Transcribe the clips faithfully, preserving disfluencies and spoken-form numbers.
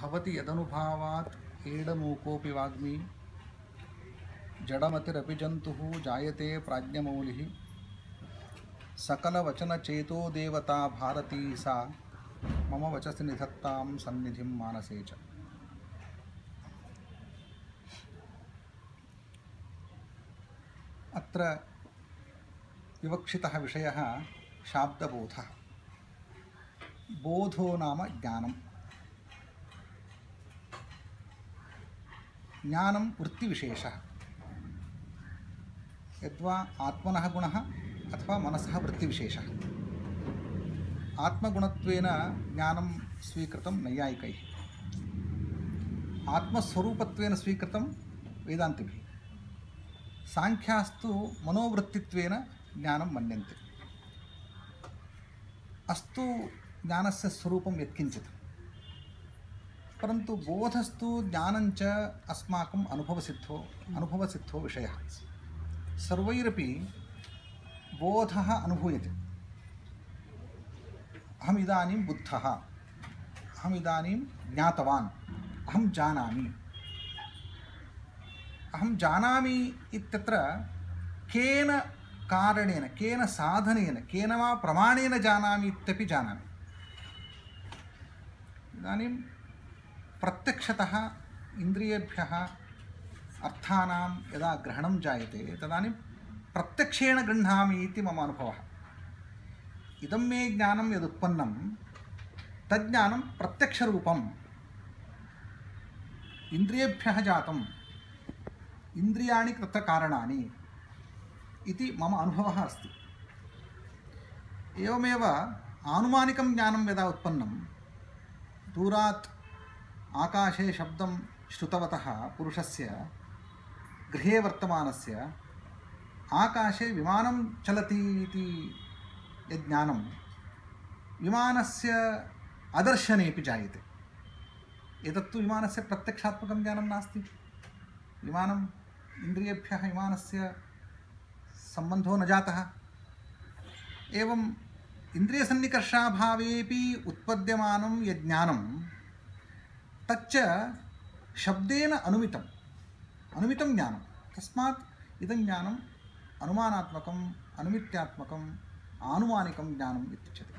भवति यदनुभावात् एडमूकोऽपि वाग्मी जडमतिरपि जन्तुः जायते प्राज्ञमौलिः सकलवचनचेतो देवता भारती सा मम वचसि निधत्तां सन्निधिं मानसे च। अत्र विवक्षितः विषयः शाब्दबोधः। बोधो नाम ज्ञानं। ज्ञानं वृत्तिविशेषः। यद्वा आत्मनः गुणः अथवा मनसः वृत्तिविशेषः। आत्मगुणत्वेन ज्ञानं स्वीकृतं नैयायिकैः, आत्मस्वरूपत्वेन स्वीकृतं वेदान्तिभिः। सांख्यास्तु मनोवृत्तित्वेन ज्ञानं मन्यन्ते। अस्तु ज्ञानस्य स्वरूपं यत्किञ्चित्, परन्तु बोधस्तु ज्ञानञ्च अस्माकम् अनुभवसिद्धो अनुभवसिद्धो विषयः। सर्वैरपि बोधः अनुभूयते। अहम् इदानीं बुद्धः, अहम् इदानीं ज्ञातवान्, अहं जानामि। अहं जानामि इत्यत्र केन कारणेन, केन साधनेन, केन वा प्रमाणेन जानामि इत्यपि जानामि। इदानीं प्रत्यक्षतः इन्द्रियेभ्यः अर्थानां यदा ग्रहणं जायते तदानीं प्रत्यक्षेण गृह्णामि इति मम अनुभवः। इदं मे ज्ञानं यदुत्पन्नं तज्ज्ञानं प्रत्यक्षरूपम्, इन्द्रियेभ्यः जातम्, इन्द्रियाणि तत्र कारणानि इति मम अनुभवः अस्ति। एवमेव आनुमानिकं ज्ञानं यदा उत्पन्नं, दूरात् आकाशे शब्दं श्रुतवतः पुरुषस्य गृहे वर्तमानस्य आकाशे विमानं चलति इति यज्ञानं विमानस्य अदर्शनेपि जायते। एतत्तु विमानस्य प्रत्यक्षात्मकं ज्ञानं नास्ति। विमानम् इन्द्रियेभ्यः विमानस्य सम्बन्धो न जातः। एवम् इन्द्रियसन्निकर्षाभावेपि उत्पद्यमानं यज्ञानं तच्च शब्देन अनुमितम् अनुमितं ज्ञानं। तस्मात् इदं ज्ञानम् अनुमानात्मकम्, अनुमित्यात्मकम्, आनुमानिकं ज्ञानम् इत्युच्यते।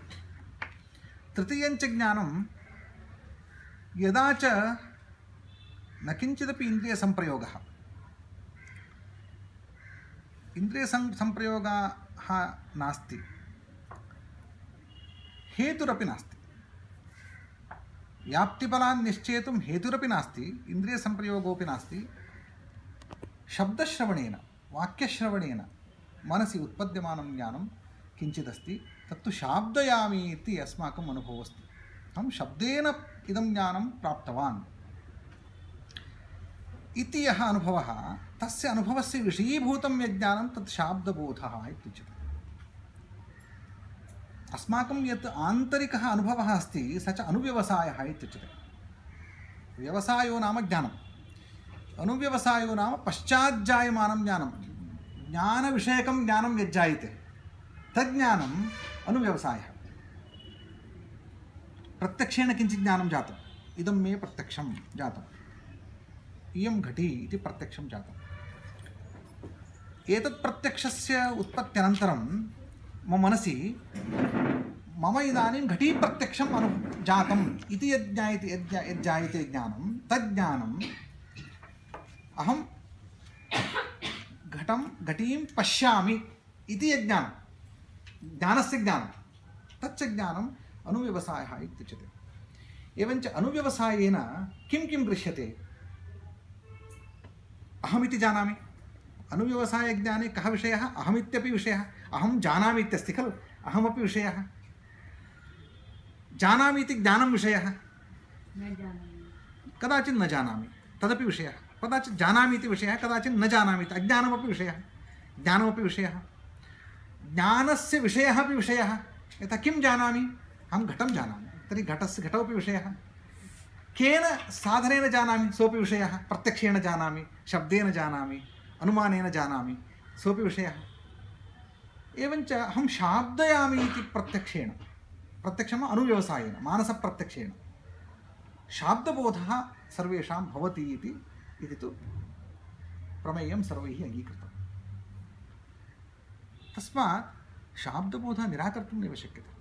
तृतीयञ्च ज्ञानं यदा च न किञ्चिदपि इन्द्रियसंप्रयोगः, इन्द्रियसंप्रयोगः नास्ति, हेतुरपि नास्ति। व्याप्तिफलान् निश्चेतुं हेतुरपि नास्ति, इन्द्रियसंप्रयोगोऽपि नास्ति। शब्दश्रवणेन, वाक्यश्रवणेन मनसि उत्पद्यमानं ज्ञानं किञ्चिदस्ति। तत्तु शाब्दयामि इति अस्माकम् अनुभवः अस्ति। अहं शब्देन इदं ज्ञानं प्राप्तवान् इति यः अनुभवः, तस्य अनुभवस्य विषयीभूतं यज्ञानं तत् शाब्दबोधः इत्युच्यते। अस्माकं यत् आन्तरिकः अनुभवः अस्ति स च अनुव्यवसायः इत्युच्यते। व्यवसायो नाम ज्ञानम्, अनुव्यवसायो नाम पश्चाज्जायमानं ज्ञानं। ज्ञानविषयकं ज्ञानं यज्जायते तज्ज्ञानम् अनुव्यवसायः। प्रत्यक्षेण किञ्चित् ज्ञानं जातम्, इदं मे प्रत्यक्षं जातम्, इयं घटी इति प्रत्यक्षं जातम्। एतत् प्रत्यक्षस्य उत्पत्त्यनन्तरं मम मनसि मम इदानीं घटी प्रत्यक्षम् अनु जातम् इति यज्ञायते यज्जायते ज्ञानं, तज्ज्ञानम् अहं घटं घटीं पश्यामि इति यज्ञानं, ज्ञानस्य ज्ञानं, तच्च ज्ञानम् अनुव्यवसायः इत्युच्यते। एवञ्च अनुव्यवसायेन किं किं गृह्यते? अहमिति जानामि। अनुव्यवसायज्ञाने कः विषयः? अहमित्यपि विषयः। अहं जानामि इत्यस्ति खलु, अहमपि विषयः। जानामि इति ज्ञानं विषयः, कदाचित् न जानामि तदपि विषयः, कदाचित् जानामि इति विषयः, कदाचित् न जानामि इति अज्ञानमपि विषयः, ज्ञानमपि विषयः। ज्ञानस्य विषयः अपि विषयः। यथा किं जानामि? अहं घटं जानामि, तर्हि घटस्य घटोपि विषयः। केन साधनेन जानामि? सोऽपि विषयः। प्रत्यक्षेण जानामि, शब्देन जानामि, अनुमानेन जानामि, सोऽपि विषयः। एवञ्च अहं शाब्दयामि इति प्रत्यक्षेण, प्रत्यक्षम् अनुव्यवसायेन, मानसप्रत्यक्षेण। शाब्दबोधः सर्वेषां भवति इति इति तु प्रमेयं सर्वैः अङ्गीकृतम्। तस्मात् शाब्दबोधः निराकर्तुं नैव शक्यते।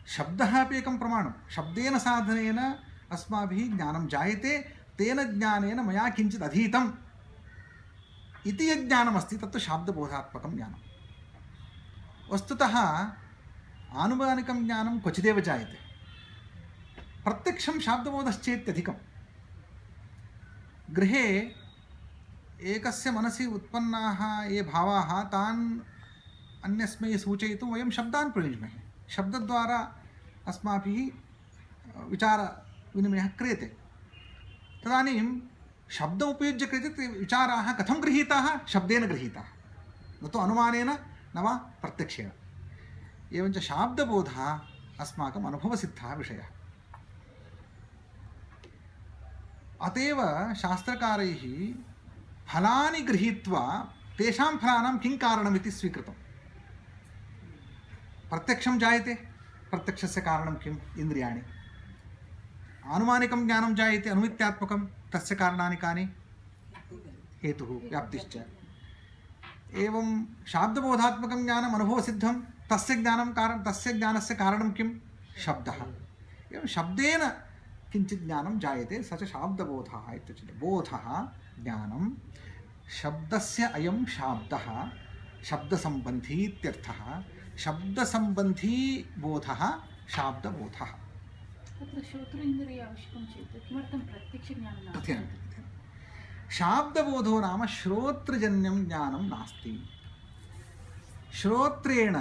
शब्दः अपि एकं प्रमाणं। शब्देन साधनेन अस्माभिः ज्ञानं जायते, तेन ज्ञानेन मया किञ्चित् अधीतम् इति यत् ज्ञानमस्ति तत्तु शाब्दबोधात्मकं ज्ञानं। वस्तुतः आनुमानिकं ज्ञानं क्वचिदेव जायते, प्रत्यक्षं शाब्दबोधश्चेत्यधिकं। गृहे एकस्य मनसि उत्पन्नाः ये भावाः तान् अन्यस्मै सूचयितुं वयं शब्दान् प्रयुञ्ज्महे। शब्दद्वारा अस्माभिः विचारविनिमयः क्रियते। तदानीं शब्दम् उपयुज्य क्रियते विचाराः कथं गृहीताः? शब्देन गृहीताः, न तु अनुमानेन न वा प्रत्यक्षेण। एवञ्च शाब्दबोधः अस्माकम् अनुभवसिद्धः विषयः। अतएव शास्त्रकारैः फलानि गृहीत्वा तेषां फलानां किं कारणमिति स्वीकृतम्। प्रत्यक्षं जायते, प्रत्यक्षस्य कारणं किम्? इन्द्रियाणि। आनुमानिकं ज्ञानं जायते, अनुमित्यात्मकं, तस्य कारणानि कानि? हेतुः, व्याप्तिश्च। एवं शाब्दबोधात्मकं ज्ञानम् अनुभवसिद्धं, तस्य ज्ञानं कारण तस्य ज्ञानस्य कारणं किं? शब्दः। एवं शब्देन किञ्चित् ज्ञानं जायते, स च शाब्दबोधः इत्युच्यते। बोधः ज्ञानं शब्दस्य अयं शाब्दः शब्दसम्बन्धी इत्यर्थः। शब्दसम्बन्धी बोधः शाब्दबोधः। तत्र श्रोत्रेन्द्रिय आवश्यकं चेत् किमर्थं प्रत्यक्षज्ञानं नास्ति? शाब्दबोधो नाम श्रोत्रजन्यं ज्ञानं नास्ति। श्रोत्रेण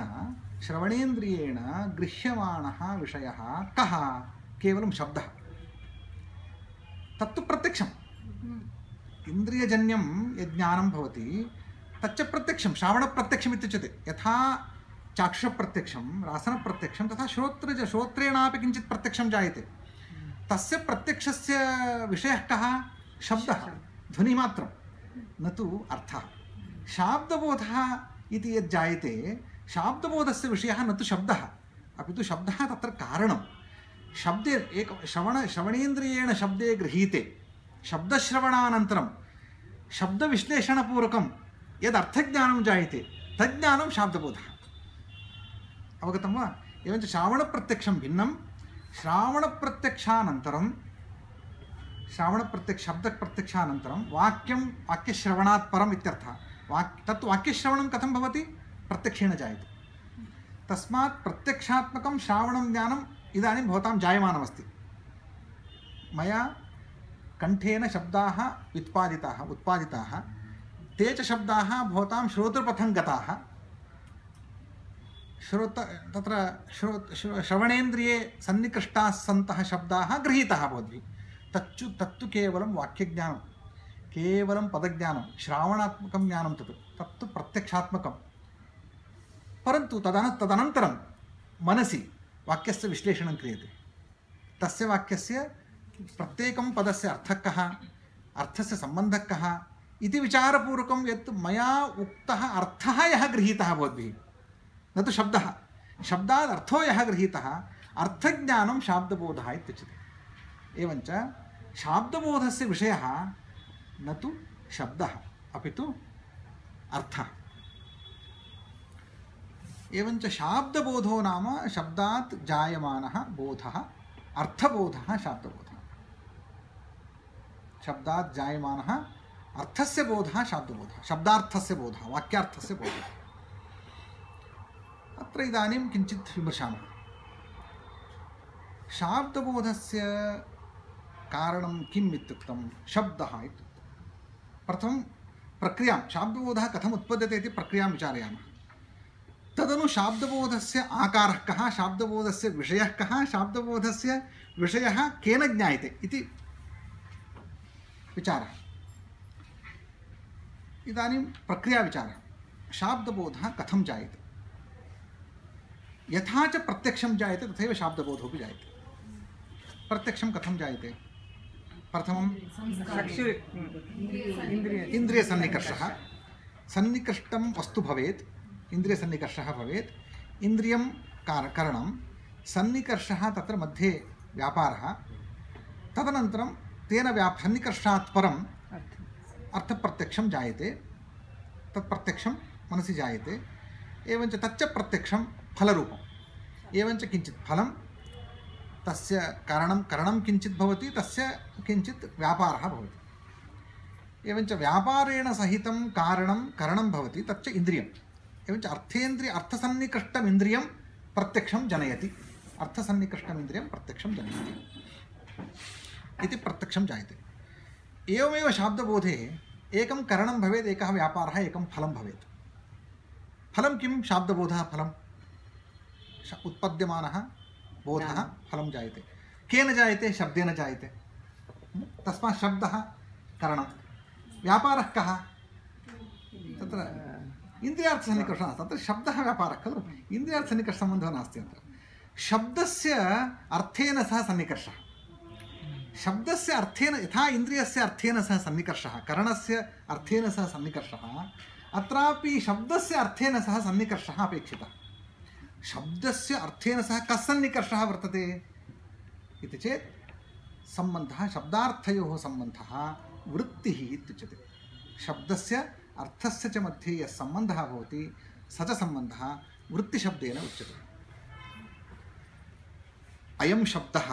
श्रवणेन्द्रियेण गृह्यमाणः विषयः कः? केवलं शब्दः। तत्तु प्रत्यक्षम्। इन्द्रियजन्यं यज्ञानं भवति तच्च प्रत्यक्षं, श्रावणप्रत्यक्षम् इत्युच्यते। यथा चाक्षुषप्रत्यक्षं, रासनप्रत्यक्षं, तथा श्रोत्रज श्रोत्रेणापि किञ्चित् प्रत्यक्षं जायते। तस्य प्रत्यक्षस्य विषयः कः? शब्दः, ध्वनिमात्रं, न तु अर्थः। शाब्दबोधः इति यत् जायते, शाब्दबोधस्य विषयः न तु शब्दः, अपि तु शब्दः तत्र कारणं। शब्दे एक श्रवण श्रवणेन्द्रियेण शब्दे गृहीते, शब्दश्रवणानन्तरं शब्दविश्लेषणपूर्वकं यद् अर्थज्ञानं जायते तज्ज्ञानं शाब्दबोधः। अवगतं वा? एवञ्च श्रावणप्रत्यक्षं भिन्नं। श्रावणप्रत्यक्षानन्तरं श्रावणप्रत्यक्ष शब्दप्रत्यक्षानन्तरं वाक्यं वाक्यश्रवणात् परम् इत्यर्थः। वाक् तत् वाक्यश्रवणं कथं भवति? प्रत्यक्षेण जायते। तस्मात् प्रत्यक्षात्मकं श्रावणं ज्ञानम् इदानीं भवतां जायमानमस्ति। मया कण्ठेन शब्दाः उत्पादिताः उत्पादिताः ते च शब्दाः भवतां श्रोतृपथं गताः। श्रोत तत्र श्रो श्रवणेन्द्रिये सन्निकृष्टाः सन्तः शब्दाः गृहीताः भवद्भिः। तच्चु तत्तु केवलं वाक्यज्ञानं, केवलं पदज्ञानं, श्रावणात्मकं ज्ञानं तत् तत्तु प्रत्यक्षात्मकं। परन्तु तदन तदनन्तरं मनसि वाक्यस्य विश्लेषणं क्रियते। तस्य वाक्यस्य प्रत्येकं पदस्य अर्थः कः, अर्थस्य सम्बन्धः कः इति विचारपूर्वकं यत् मया उक्तः अर्थः यः गृहीतः भवद्भिः, न तु शब्दः। शब्दात् अर्थो यः गृहीतः, अर्थज्ञानं शाब्दबोधः इत्युच्यते। एवञ्च शाब्दबोधस्य विषयः न तु शब्दः, अपि तु अर्थः। एवञ्च शाब्दबोधो नाम शब्दात् जायमानः बोधः, अर्थबोधः शाब्दबोधः। शब्दात् जायमानः अर्थस्य बोधः शाब्दबोधः, शब्दार्थस्य बोधः, वाक्यार्थस्य बोधः। अत्र इदानीं किञ्चित् विमर्शामः। शाब्दबोधस्य कारणं किम् इत्युक्तं? शब्दः इत्युक्तं। प्रथमं प्रक्रियां, शाब्दबोधः कथम् उत्पद्यते इति प्रक्रियां विचारयामः। तदनु शाब्दबोधस्य आकारः कः, शाब्दबोधस्य विषयः कः, शाब्दबोधस्य विषयः केन ज्ञायते इति विचारः। इदानीं प्रक्रियाविचारः। शाब्दबोधः कथं जायते? यथा च प्रत्यक्षं जायते तथैव शाब्दबोधोऽपि जायते। प्रत्यक्षं कथं जायते? प्रथमं इन्द्रियसन्निकर्षः। सन्निकृष्टं वस्तु भवेत्, इन्द्रियसन्निकर्षः भवेत्, इन्द्रियं कारणं, सन्निकर्षः तत्र मध्ये व्यापारः तदनन्तरं तेन व्याप सन्निकर्षात् परम् अर्थप्रत्यक्षं जायते तत् प्रत्यक्षं मनसि जायते एवञ्च तच्च प्रत्यक्षं फलरूपम् एवञ्च किञ्चित् फलं तस्य कारणं करणं किञ्चित् भवति तस्य किञ्चित् व्यापारः भवति एवञ्च व्यापारेण सहितं कारणं करणं भवति तच्च इन्द्रियम् एवञ्च अर्थेन्द्रिय अर्थसन्निकृष्टम् इन्द्रियं प्रत्यक्षं जनयति अर्थसन्निकृष्टम् इन्द्रियं प्रत्यक्षं जनयति इति प्रत्यक्षं जायते एवमेव शाब्दबोधे एकं करणं भवेत् एकः व्यापारः एकं फलं भवेत् फलं किं शाब्दबोधः फलं उत्पद्यमानः बोधः फलं जायते केन जायते शब्देन जायते तस्मात् शब्दः करणं व्यापारः कः तत्र इन्द्रियार्थसन्निकर्षः तत्र शब्दः व्यापारः खलु इन्द्रियार्थसन्निकर्षसम्बन्धः नास्ति अत्र शब्दस्य अर्थेन सह सन्निकर्षः शब्दस्य अर्थेन यथा इन्द्रियस्य अर्थेन सह सन्निकर्षः करणस्य अर्थेन सह सन्निकर्षः अत्रापि शब्दस्य अर्थेन सह सन्निकर्षः अपेक्षितः शब्दस्य अर्थेन सह कः सन्निकर्षः वर्तते इति चेत् सम्बन्धः शब्दार्थयोः सम्बन्धः वृत्तिः इत्युच्यते शब्दस्य अर्थस्य च मध्ये यः सम्बन्धः भवति स च सम्बन्धः वृत्तिशब्देन उच्यते अयं शब्दः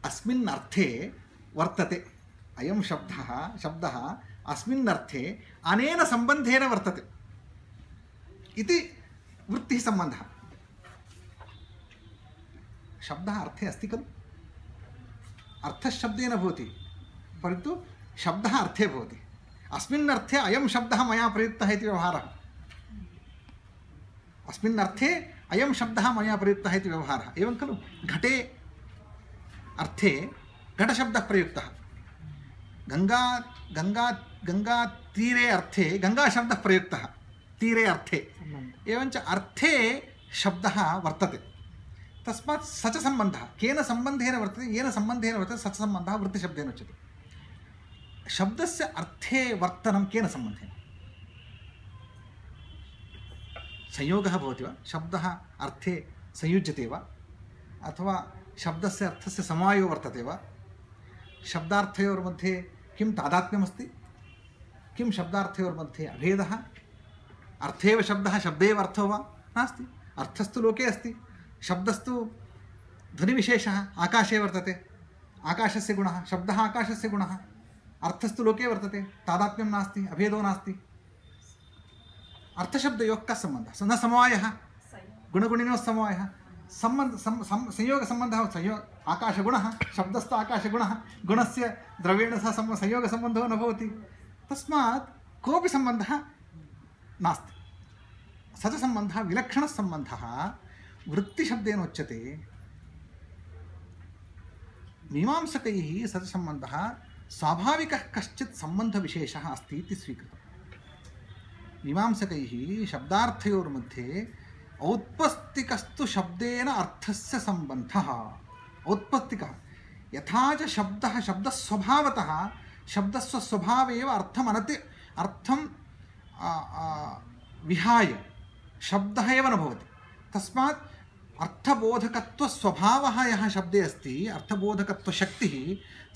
अस्मिन् अर्थे वर्तते अयं शब्दः शब्दः अस्मिन् अर्थे अनेन सम्बन्धेन वर्तते इति वृत्तिः सम्बन्धः शब्दः अर्थे अस्ति खलु अर्थशब्देन भवति परन्तु शब्दः अर्थे भवति अस्मिन् अर्थे अयं शब्दः मया प्रयुक्तः इति व्यवहारः अस्मिन् अर्थे अयं शब्दः मया प्रयुक्तः इति व्यवहारः एवं खलु घटे अर्थे घटशब्दः प्रयुक्तः गंगा गंगा गंगातीरे अर्थे गंगाशब्दः प्रयुक्तः तीरे अर्थे एवञ्च अर्थे शब्दः वर्तते तस्मात् स च सम्बन्धः केन सम्बन्धेन वर्तते येन सम्बन्धेन वर्तते स च सम्बन्धः वृत्तिशब्देन उच्यते शब्दस्य अर्थे वर्तनं केन सम्बन्धेन संयोगः भवति वा शब्दः अर्थे संयुज्यते वा अथवा शब्दस्य अर्थस्य समवायो वर्तते वा शब्दार्थयोर्मध्ये किं तादात्म्यमस्ति किं शब्दार्थयोर्मध्ये अभेदः अर्थेव शब्दः शब्देव अर्थो वा नास्ति अर्थस्तु लोके अस्ति शब्दस्तु ध्वनिविशेषः आकाशे वर्तते आकाशस्य गुणः शब्दः आकाशस्य गुणः अर्थस्तु लोके वर्तते तादात्म्यं नास्ति अभेदो नास्ति अर्थशब्दयोः कः सम्बन्धः न समवायः गुणगुणिनोः समवायः संबंध संयोग संबंध संयोग आकाशगुणः शब्दस्तु आकाशगुणः गुणस्य द्रव्येण सह संयोग संबंधो न भवति तस्मात् कोऽपि सम्बन्धः नास्ति स च सम्बन्धः विलक्षणः सम्बन्धः वृत्तिशब्देन उच्यते मीमांसकैः स च सम्बन्धः स्वाभाविकः कश्चित् सम्बन्धविशेषः अस्ति इति स्वीकृतः मीमांसकैः शब्दार्थयोर्मध्ये औत्पत्तिकस्तु शब्देन अर्थस्य सम्बन्धः औत्पत्तिकः यथा च शब्दः शब्दस्वभावतः शब्दस्व स्वभावेव अर्थमनति अर्थं विहाय शब्दः एव न भवति तस्मात् अर्थबोधकत्वस्वभावः यः शब्दे अस्ति अर्थबोधकत्वशक्तिः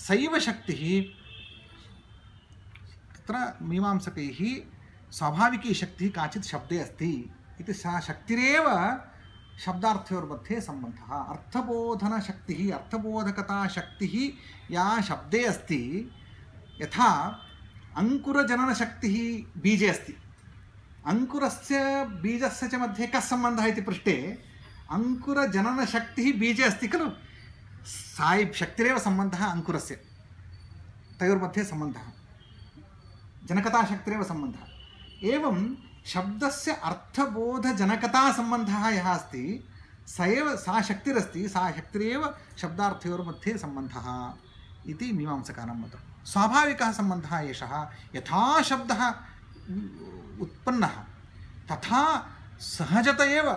सैव शक्तिः तत्र मीमांसकैः स्वाभाविकी शक्तिः काचित् शब्दे अस्ति इति सा शक्तिरेव शब्दार्थयोर्मध्ये सम्बन्धः अर्थबोधनशक्तिः अर्थबोधकताशक्तिः या शब्दे अस्ति यथा अंकुरजननशक्तिः बीजे अस्ति अंकुरस्य बीजस्य च मध्ये कः सम्बन्धः इति पृष्टे अंकुरजननशक्तिः बीजे अस्ति खलु सा शक्तिरेव सम्बन्धः अंकुरस्य तयोर्मध्ये सम्बन्धः जनकताशक्तिरेव सम्बन्धः एवं शब्दस्य अर्थबोधजनकता सम्बन्धः यः अस्ति स एव सा शक्तिरस्ति सा शक्तिरेव शब्दार्थयोर्मध्ये सम्बन्धः इति मीमांसकानां मतं स्वाभाविकः सम्बन्धः एषः यथा शब्दः उत्पन्नः तथा सहजत एव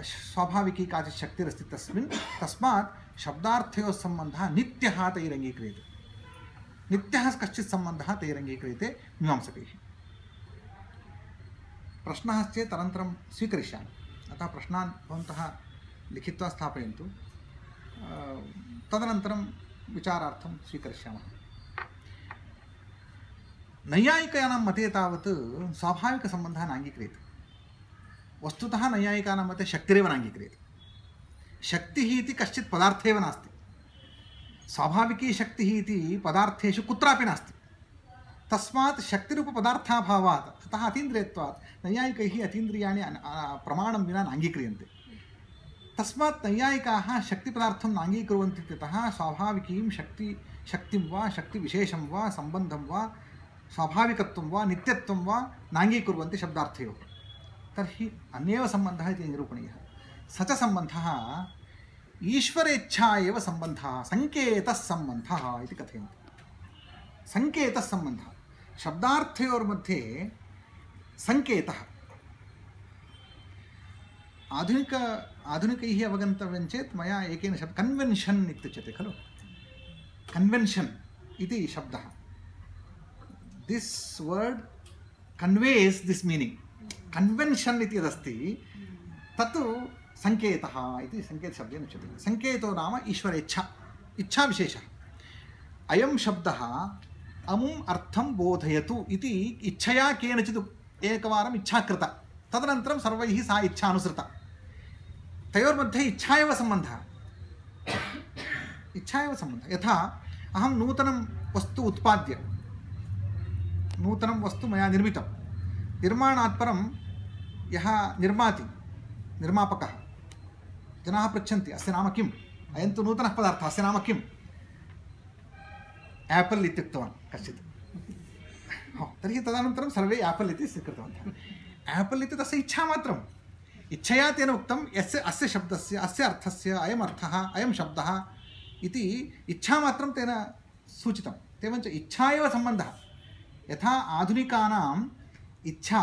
स्वाभाविकी काचित् शक्तिरस्ति तस्मिन् तस्मात् शब्दार्थयोः सम्बन्धः नित्यः तैरङ्गीक्रियते नित्यः कश्चित् सम्बन्धः तैरङ्गीक्रियते मीमांसकैः प्रश्नः चेत् अनन्तरं स्वीकरिष्यामि अतः प्रश्नान् भवन्तः लिखित्वा स्थापयन्तु। तदनन्तरं विचारार्थं स्वीकरिष्यामः। नैयायिकानां मते तावत् स्वाभाविकसम्बन्धः नाङ्गीक्रियते। वस्तुतः नैयायिकानां मते शक्तिरेव नाङ्गीक्रियते। शक्तिः इति कश्चित् पदार्थः एव नास्ति। स्वाभाविकी शक्तिः इति पदार्थेषु कुत्रापि नास्ति। तस्मात् शक्तिरूपपदार्थाभावात् अतः अतीन्द्रियत्वात् नैयायिकैः अतीन्द्रियाणि प्रमाणं विना नाङ्गीक्रियन्ते। तस्मात् नैयायिकाः शक्तिपदार्थं नाङ्गीकुर्वन्ति इत्यतः स्वाभाविकीं शक्ति शक्तिं वा शक्तिविशेषं वा सम्बन्धं वा स्वाभाविकत्वं वा नित्यत्वं वा नाङ्गीकुर्वन्ति शब्दार्थयोः। तर्हि अन्येव सम्बन्धः इति निरूपणीयः। स च सम्बन्धः ईश्वरेच्छा एव सम्बन्धः, सङ्केतः सम्बन्धः इति कथयन्ति। सङ्केतः सम्बन्धः शब्दार्थयोर्मध्ये सङ्केतः। आधुनिक आधुनिकैः अवगन्तव्यं चेत् मया एकेन शब्द कन्वेन्शन् इत्युच्यते खलु। कन्वेन्शन् इति शब्दः, this world कन्वेस् this meaning. Convention इति यदस्ति तत् सङ्केतः इति सङ्केतशब्देन उच्यते। सङ्केतो नाम ईश्वरेच्छा, इच्छाविशेषः। अयं शब्दः अमुम् अर्थं बोधयतु इति इच्छया केनचित् एकवारम् इच्छा कृता, तदनन्तरं सर्वैः सा इच्छा अनुसृता। तयोर्मध्ये इच्छा एव सम्बन्धः, इच्छा एव सम्बन्धः। यथा अहं नूतनं वस्तु उत्पाद्य, नूतनं वस्तु मया निर्मितं, निर्माणात् परं यः निर्माति, निर्मापकः, जनाः पृच्छन्ति अस्य नाम किम्, अयं तु नूतनः पदार्थः, अस्य नाम किम्, एपल् इत्युक्तवान् कश्चित्। हो, तर्हि तदनन्तरं सर्वे एपल् इति स्वीकृतवन्तः। एपल् इति तस्य इच्छामात्रम्। इच्छया तेन उक्तं यस्य अस्य शब्दस्य अस्य अर्थस्य अयम् अर्थः अयं शब्दः इति इच्छामात्रं तेन सूचितम्। एवञ्च इच्छा एव सम्बन्धः। यथा आधुनिकानाम् इच्छा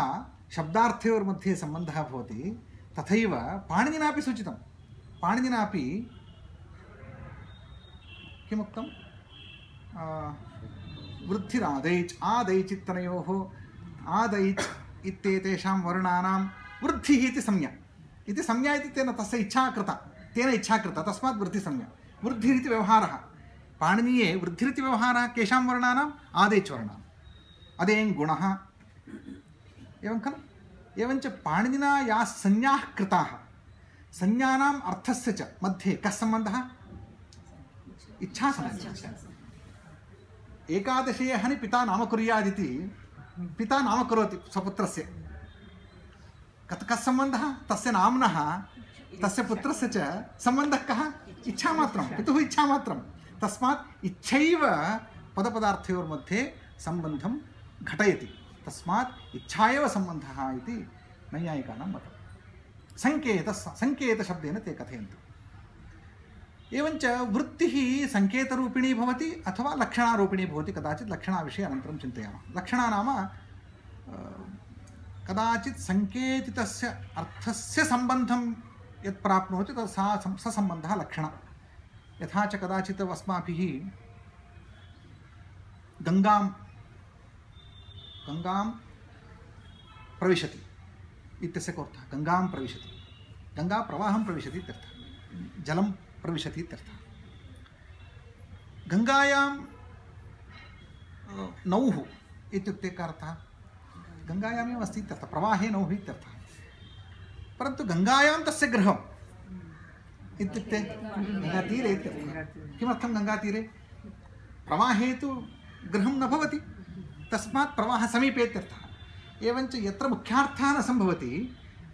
शब्दार्थयोर्मध्ये सम्बन्धः भवति, तथैव पाणिनिनापि सूचितं। पाणिनिनापि किमुक्तं? वृद्धिरादैच् आदैच् इत्यनयोः आदैच् इत्येतेषां वर्णानां वृद्धिः इति संज्ञा, इति संज्ञा इति तेन तस्य इच्छा कृता, तेन इच्छा कृता, तस्मात् वृद्धिसंज्ञा। वृद्धिरिति व्यवहारः पाणिनीये। वृद्धिरिति व्यवहारः केषां वर्णानाम्? आदैच् वर्णानाम्। अदेङ् गुणः एवं खलु। एवञ्च पाणिनिना याः संज्ञाः कृताः, संज्ञानाम् अर्थस्य च मध्ये कः सम्बन्धः? इच्छासम्बन्धः। एकादशे हनि पिता नामकुर्यादिति पिता नामकरोति स्वपुत्रस्य, कत् कः सम्बन्धः? तस्य नाम्नः तस्य पुत्रस्य च सम्बन्धः कः? इच्छामात्रं, पितुः इच्छामात्रं। तस्मात् इच्छैव पदपदार्थयोर्मध्ये सम्बन्धं घटयति। तस्मात् इच्छा एव सम्बन्धः इति नैयायिकानां मतं। सङ्केतः सङ्केतशब्देन ते कथयन्ति। एवञ्च वृत्तिः सङ्केतरूपिणी भवति अथवा लक्षणारूपिणी भवति। कदाचित् लक्षणाविषये अनन्तरं चिन्तयामः। लक्षणा नाम कदाचित् सङ्केतितस्य अर्थस्य सम्बन्धं यत् प्राप्नोति तत् सा स सम्बन्धः लक्षणः। यथा च कदाचित् अस्माभिः गङ्गां गङ्गां प्रविशति इत्यस्य कोऽर्थः? गङ्गां प्रविशति, गङ्गा प्रवाहं प्रविशति इत्यर्थः, जलं प्रविशति इत्यर्थः। गङ्गायां नौः इत्युक्ते कः अर्थः? गङ्गायामेव अस्ति इत्यर्थः, प्रवाहे नौः इत्यर्थः। परन्तु गङ्गायां तस्य गृहम् इत्युक्ते गङ्गातीरे इत्यर्थः। किमर्थं गङ्गातीरे? प्रवाहे तु गृहं न भवति, तस्मात् प्रवाहसमीपे इत्यर्थः। एवञ्च यत्र मुख्यार्थः न सम्भवति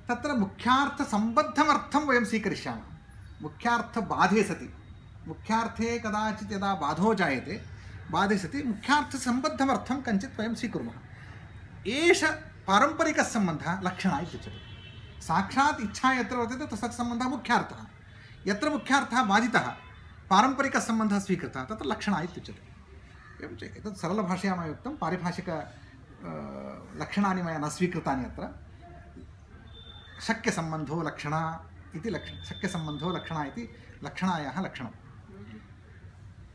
तत्र मुख्यार्थसम्बद्धमर्थं वयं स्वीकरिष्यामः। मुख्यार्थबाधे सति, मुख्यार्थे कदाचित् यदा बाधो जायते, बाधे सति मुख्यार्थसम्बद्धमर्थं कञ्चित् वयं स्वीकुर्मः। एष पारम्परिकसम्बन्धः लक्षणः इत्युच्यते। साक्षात् इच्छा यत्र वर्तते तस्य सम्बन्धः मुख्यार्थः, यत्र मुख्यार्थः बाधितः पारम्परिकसम्बन्धः स्वीकृतः तत्र लक्षणः इत्युच्यते। एवञ्च एतत् सरलभाषया मया उक्तं, पारिभाषिक लक्षणानि मया न स्वीकृतानि अत्र। शक्यसम्बन्धो लक्षणा इति लक्ष शक्यसम्बन्धो लक्षणा इति लक्षणायाः लक्षणम्।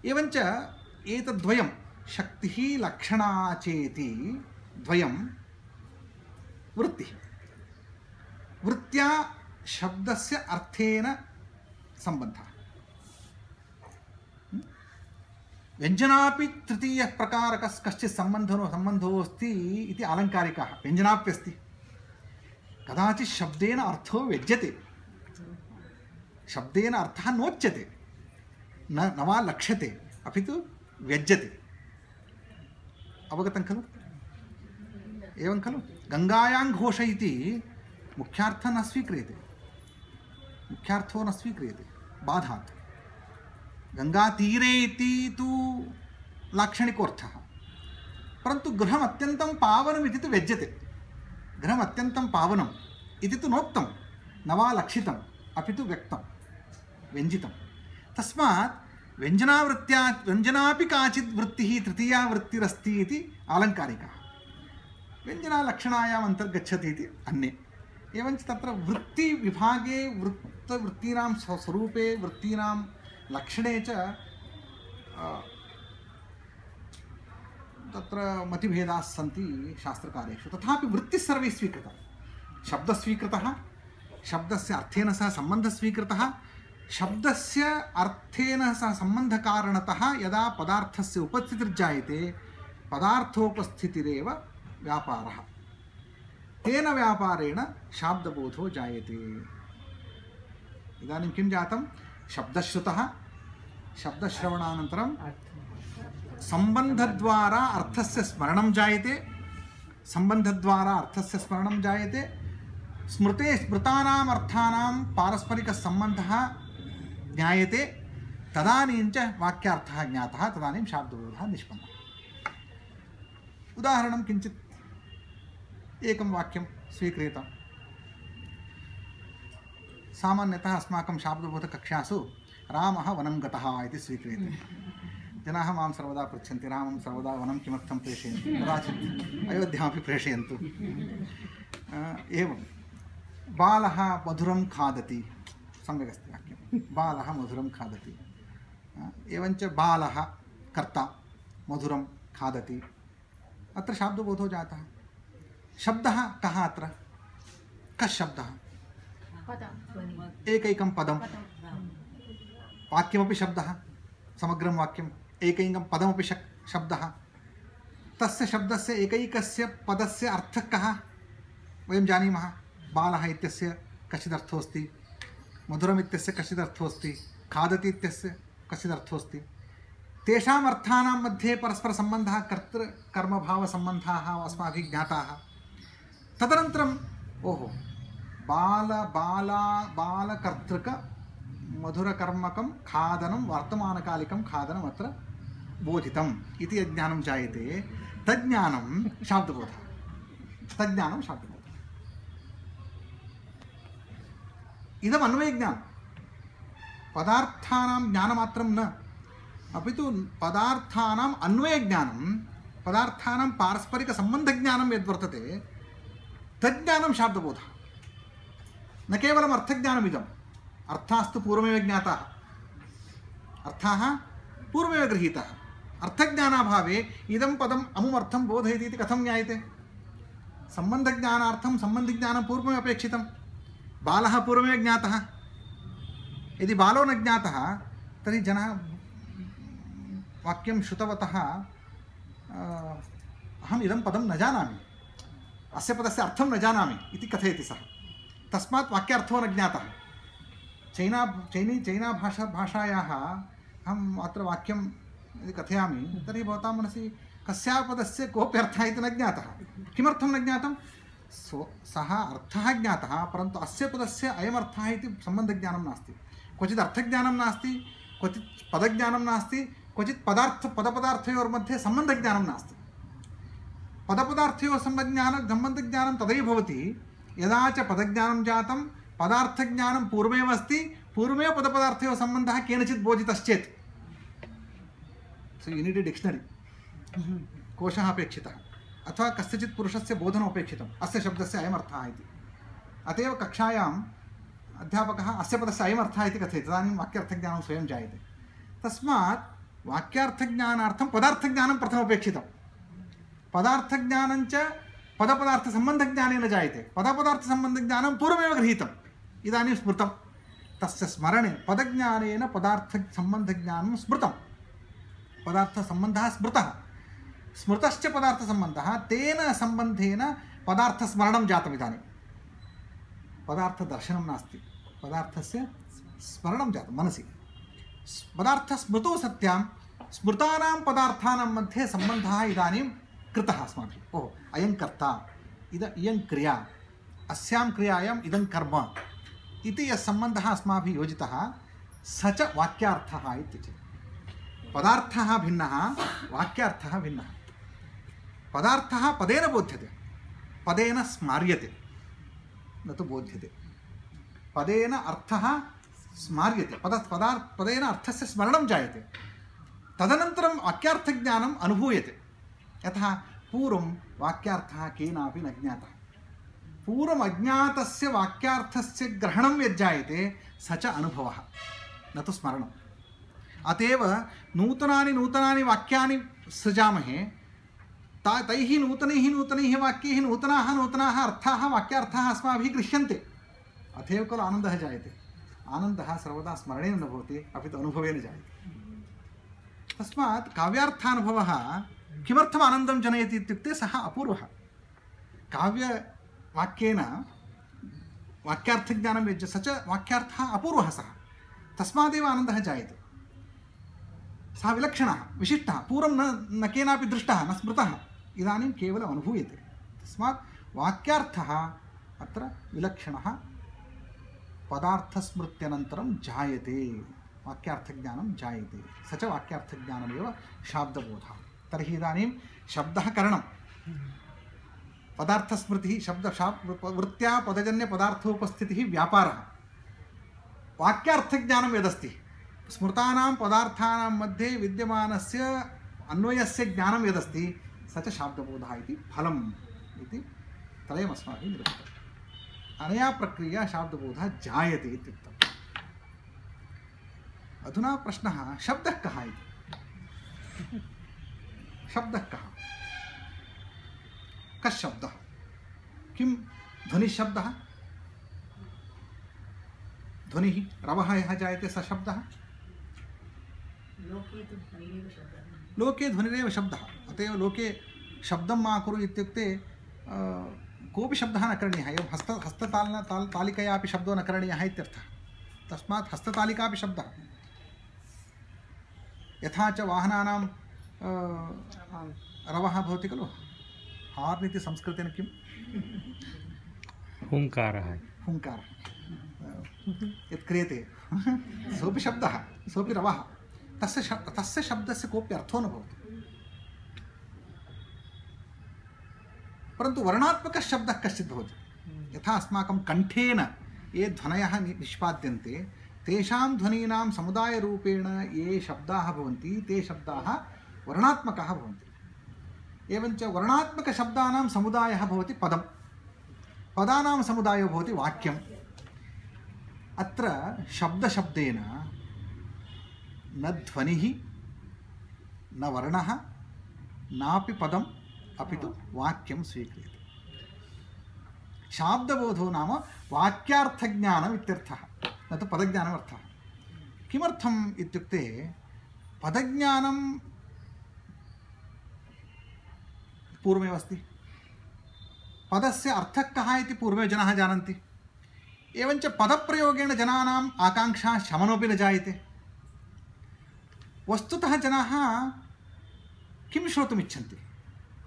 एवञ्च एतद्वयं शक्तिः लक्षणा चेति द्वयं वृत्तिः। वृत्त्या शब्दस्य अर्थेन सम्बन्धः। व्यञ्जनापि तृतीयः प्रकारकः कश्चित् सम्बन्धो सम्बन्धोऽस्ति इति आलङ्कारिकाः व्यञ्जनाप्यस्ति कदाचित् शब्देन अर्थो व्यज्यते शब्देन अर्थः नोच्यते न न वा लक्ष्यते अपि तु व्यज्यते अवगतं खलु एवं खलु गङ्गायां घोष इति मुख्यार्थः न स्वीक्रियते मुख्यार्थो न स्वीक्रियते बाधात् गङ्गातीरे इति तु लाक्षणिकोऽर्थः परन्तु गृहम् अत्यन्तं पावनम् इति तु व्यज्यते गृहम् अत्यन्तं पावनम् इति तु नोक्तं न वा लक्षितम् अपि तु व्यक्तं व्यञ्जितं तस्मात् व्यञ्जनावृत्त्या व्यञ्जनापि काचित् वृत्तिः तृतीया वृत्तिरस्ति इति आलङ्कारिकः व्यञ्जनालक्षणायाम् अन्तर्गच्छति इति अन्ये एवञ्च तत्र वृत्तिविभागे वृत्तवृत्तीनां स्वरूपे वृत्तीनां लक्षणे च तत्र मतिभेदाः सन्ति शास्त्रकारेषु तथापि वृत्तिः सर्वैः स्वीकृतः शब्दः स्वीकृतः शब्दस्य अर्थेन सह सम्बन्धः स्वीकृतः शब्दस्य अर्थेन सह सम्बन्धकारणतः यदा पदार्थस्य उपस्थितिर्जायते पदार्थोपस्थितिरेव व्यापारः तेन व्यापारेण शाब्दबोधो जायते इदानीं किं जातं शब्दश्रुतः शब्दश्रवणानन्तरं सम्बन्धद्वारा अर्थस्य स्मरणं जायते सम्बन्धद्वारा अर्थस्य स्मरणं जायते स्मृते स्मृतानाम् अर्थानां पारस्परिकसम्बन्धः ज्ञायते तदानीं च वाक्यार्थः ज्ञातः तदानीं शाब्दबोधः निष्पन्नः उदाहरणं किञ्चित् एकं वाक्यं स्वीक्रियताम् सामान्यतः अस्माकं शाब्दबोधकक्षासु रामः वनं गतः इति स्वीक्रियते जनाः मां सर्वदा पृच्छन्ति रामं सर्वदा वनं किमर्थं प्रेषयन्ति कदाचित् अयोध्यामपि प्रेषयन्तु एवं बालः मधुरं खादति सम्यक् अस्ति वाक्यं बालः मधुरं खादति एवञ्च बालः कर्ता मधुरं खादति अत्र शाब्दबोधो जातः शब्दः कः अत्र कः शब्दः एकैकं पदं वाक्यमपि शब्दः समग्रं वाक्यम् एकैकं पदमपि शब्दः तस्य शब्दस्य एकैकस्य पदस्य अर्थः कः वयं जानीमः बालः इत्यस्य कश्चिदर्थोऽस्ति मधुरम् इत्यस्य कश्चिदर्थोऽस्ति खादति इत्यस्य कश्चिदर्थोऽस्ति तेषाम् अर्थानां मध्ये परस्परसम्बन्धः कर्तृकर्मभावसम्बन्धाः अस्माभिः ज्ञाताः तदनन्तरम् ओहो बाल बाला बालकर्तृक मधुरकर्मकं खादनं वर्तमानकालिकं खादनम् अत्र बोधितम् इति यज्ञानं जायते तज्ज्ञानं शाब्दबोधः तज्ज्ञानं शाब्दबोधः इदम् अन्वयज्ञानं पदार्थानां ज्ञानमात्रं न अपि तु पदार्थानाम् अन्वयज्ञानं पदार्थानां पारस्परिकसम्बन्धज्ञानं यद्वर्तते तज्ज्ञानं शाब्दबोधः न केवलम् अर्थज्ञानमिदम् अर्थास्तु पूर्वमेव ज्ञाताः अर्थाः पूर्वमेव गृहीताः अर्थज्ञानाभावे इदं पदम् अमुमर्थं बोधयति इति कथं ज्ञायते सम्बन्धज्ञानार्थं सम्बन्धज्ञानं पूर्वमेव अपेक्षितं बालः पूर्वमेव ज्ञातः यदि बालो न ज्ञातः तर्हि जनः वाक्यं श्रुतवतः अहम् इदं पदं न जानामि अस्य पदस्य अर्थं न जानामि इति कथयति सः तस्मात् वाक्यार्थो न ज्ञातः चैना चैनी चैना भाषा भाषायाः अहम् अत्र वाक्यं यदि कथयामि तर्हि भवतां मनसि कस्याः पदस्य कोऽपि अर्थः इति न ज्ञातः किमर्थं न ज्ञातं सो सः अर्थः ज्ञातः परन्तु अस्य पदस्य अयमर्थः इति सम्बन्धज्ञानं नास्ति क्वचित् अर्थज्ञानं नास्ति क्वचित् पदज्ञानं नास्ति क्वचित् पदार्थ पदपदार्थयोर्मध्ये सम्बन्धज्ञानं नास्ति पदपदार्थयोः सम्बन्धज्ञानं सम्बन्धज्ञानं तदैव भवति यदा च पदज्ञानं जातं पदार्थज्ञानं पूर्वमेव अस्ति पूर्वमेव पदपदार्थयोः सम्बन्धः केनचित् बोधितश्चेत् so you need a dictionary कोशः अपेक्षितः अथवा कस्यचित् पुरुषस्य बोधनम् अपेक्षितम् अस्य शब्दस्य अयमर्थः इति अत एव कक्षायाम् अध्यापकः अस्य पदस्य अयमर्थः इति कथयति तदानीं वाक्यार्थज्ञानं स्वयं जायते तस्मात् वाक्यार्थज्ञानार्थं पदार्थज्ञानं प्रथमपेक्षितं पदार्थज्ञानञ्च पदपदार्थसम्बन्धज्ञानेन जायते पदपदार्थसम्बन्धज्ञानं पूर्वमेव गृहीतम् इदानीं स्मृतं तस्य स्मरणे पदज्ञानेन पदार्थसम्बन्धज्ञानं स्मृतं पदार्थसम्बन्धः स्मृतः, स्मृतश्च पदार्थसम्बन्धः, तेन सम्बन्धेन पदार्थस्मरणं जातम्। इदानीं पदार्थदर्शनं नास्ति, पदार्थस्य स्मरणं जातं मनसि। पदार्थस्मृतौ सत्यां स्मृतानां पदार्थानां मध्ये सम्बन्धः इदानीं कृतः अस्माभिः। ओहो, अयं कर्ता, इद इयं क्रिया, अस्यां क्रियायाम् इदं कर्म इति यः सम्बन्धः अस्माभिः योजितः स च वाक्यार्थः इत्युच्यते। पदार्थः भिन्नः, वाक्यार्थः भिन्नः। पदार्थः पदेन बोध्यते, पदेन स्मार्यते, न तु बोध्यते। पदेन अर्थः स्मार्यते, पद पदार्थ पदेन अर्थस्य स्मरणं जायते, तदनन्तरं वाक्यार्थज्ञानम् अनुभूयते। यतः पूर्वं वाक्यार्थः केनापि न ज्ञातः, पूर्वम् अज्ञातस्य वाक्यार्थस्य ग्रहणं यज्जायते स च अनुभवः, न तु स्मरणम्। अतएव नूतनानि नूतनानि वाक्यानि सृजामहे, ता तैः नूतनैः नूतनैः वाक्यैः नूतनाः नूतनाः अर्थाः वाक्यार्थाः अस्माभिः गृह्यन्ते। अतएव खलु आनन्दः जायते। आनन्दः सर्वदा स्मरणेन न भवति, अपि तु अनुभवेन जायते। तस्मात् काव्यार्थानुभवः किमर्थम् आनन्दं जनयति इत्युक्ते सः अपूर्वः। काव्यवाक्येन वाक्यार्थज्ञानं यज्ज स च वाक्यार्थः अपूर्वः सः, तस्मादेव आनन्दः जायते। सः विलक्षणः, विशिष्टः, पूर्वं न न केनापि दृष्टः, न स्मृतः, इदानीं केवलम् अनुभूयते। तस्मात् वाक्यार्थः अत्र विलक्षणः पदार्थस्मृत्यनन्तरं जायते, वाक्यार्थज्ञानं जायते, स च वाक्यार्थज्ञानमेव शाब्दबोधः। तर्हि इदानीं शब्दः करणं, पदार्थस्मृतिः शब्द वृत्त्या पदजन्यपदार्थोपस्थितिः व्यापारः, वाक्यार्थज्ञानं यदस्ति स्मृतानां पदार्थानां मध्ये विद्यमानस्य अन्वयस्य ज्ञानं यदस्ति स च शाब्दबोधः इति फलम् इति त्रयम् अस्माभिः निरूपितम्। अनया प्रक्रिया शाब्दबोधः जायते इत्युक्तम्। अधुना प्रश्नः, शब्दः कः इति? शब्दः कः? कः शब्दः? किं ध्वनिशब्दः? ध्वनिः रवः यः जायते स शब्दः। लोके ध्वनिरेव शब्दः। अतएव लोके शब्दं मा कुरु इत्युक्ते कोऽपि शब्दः न करणीयः। एवं हस्त हस्तताल ताल तालिकया अपि शब्दो न करणीयः इत्यर्थः। तस्मात् हस्ततालिका अपि शब्दः। यथा च वाहनानां रवः भवति खलु, हार्न् इति संस्कृतेन किं? हुङ्कारः। हुङ्कारः यत् क्रियते सोऽपि शब्दः, सोऽपि रवः। तस्य शब्द तस्य शब्दस्य कोऽपि अर्थो न भवति। परन्तु वर्णात्मकः शब्दः कश्चित् भवति। यथा अस्माकं कण्ठेन ये ध्वनयः निष्पाद्यन्ते, तेषां ध्वनीनां समुदायरूपेण ये शब्दाः भवन्ति ते शब्दाः वर्णात्मकाः भवन्ति। एवञ्च वर्णात्मकशब्दानां समुदायः भवति पदं, पदानां समुदायो भवति वाक्यम्। अत्र शब्दशब्देन न ध्वनिः, न वर्णः, नापि पदम्, अपि तु वाक्यं स्वीक्रियते। शाब्दबोधो नाम वाक्यार्थज्ञानम् इत्यर्थः, न तु पदज्ञानम् अर्थः। किमर्थम् इत्युक्ते पदज्ञानं पूर्वमेव अस्ति, पदस्य अर्थः कः इति पूर्वमेव जनाः जानन्ति। एवञ्च पदप्रयोगेण जनानाम् आकाङ्क्षा शमनोपि न जायते। वस्तुतः जनाः किं श्रोतुम् इच्छन्ति?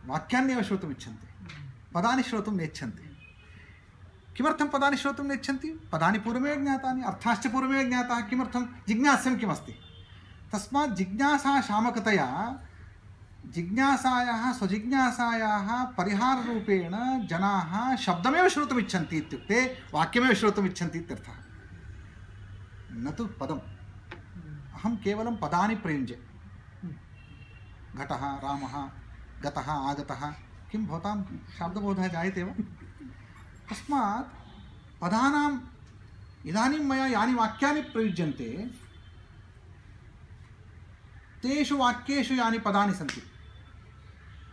वाक्यान्येव श्रोतुम् इच्छन्ति, पदानि श्रोतुं नेच्छन्ति। किमर्थं पदानि श्रोतुं नेच्छन्ति? पदानि पूर्वमेव ज्ञातानि, अर्थाश्च पूर्वमेव ज्ञाताः। किमर्थं? जिज्ञास्यं किमस्ति। तस्मात् जिज्ञासा शामकतया जिज्ञासायाः स्वजिज्ञासायाः परिहाररूपेण जनाः शब्दमेव श्रोतुम् इच्छन्ति इत्युक्ते वाक्यमेव श्रोतुम् इच्छन्ति इत्यर्थः, न तु पदम्। अहं केवलं पदानि प्रयुञ्जे, घटः, रामः, गतः, आगतः, किं भवतां शाब्दबोधः जायते वा? तस्मात् पदानाम् इदानीं मया यानि वाक्यानि प्रयुज्यन्ते तेषु वाक्येषु यानि पदानि सन्ति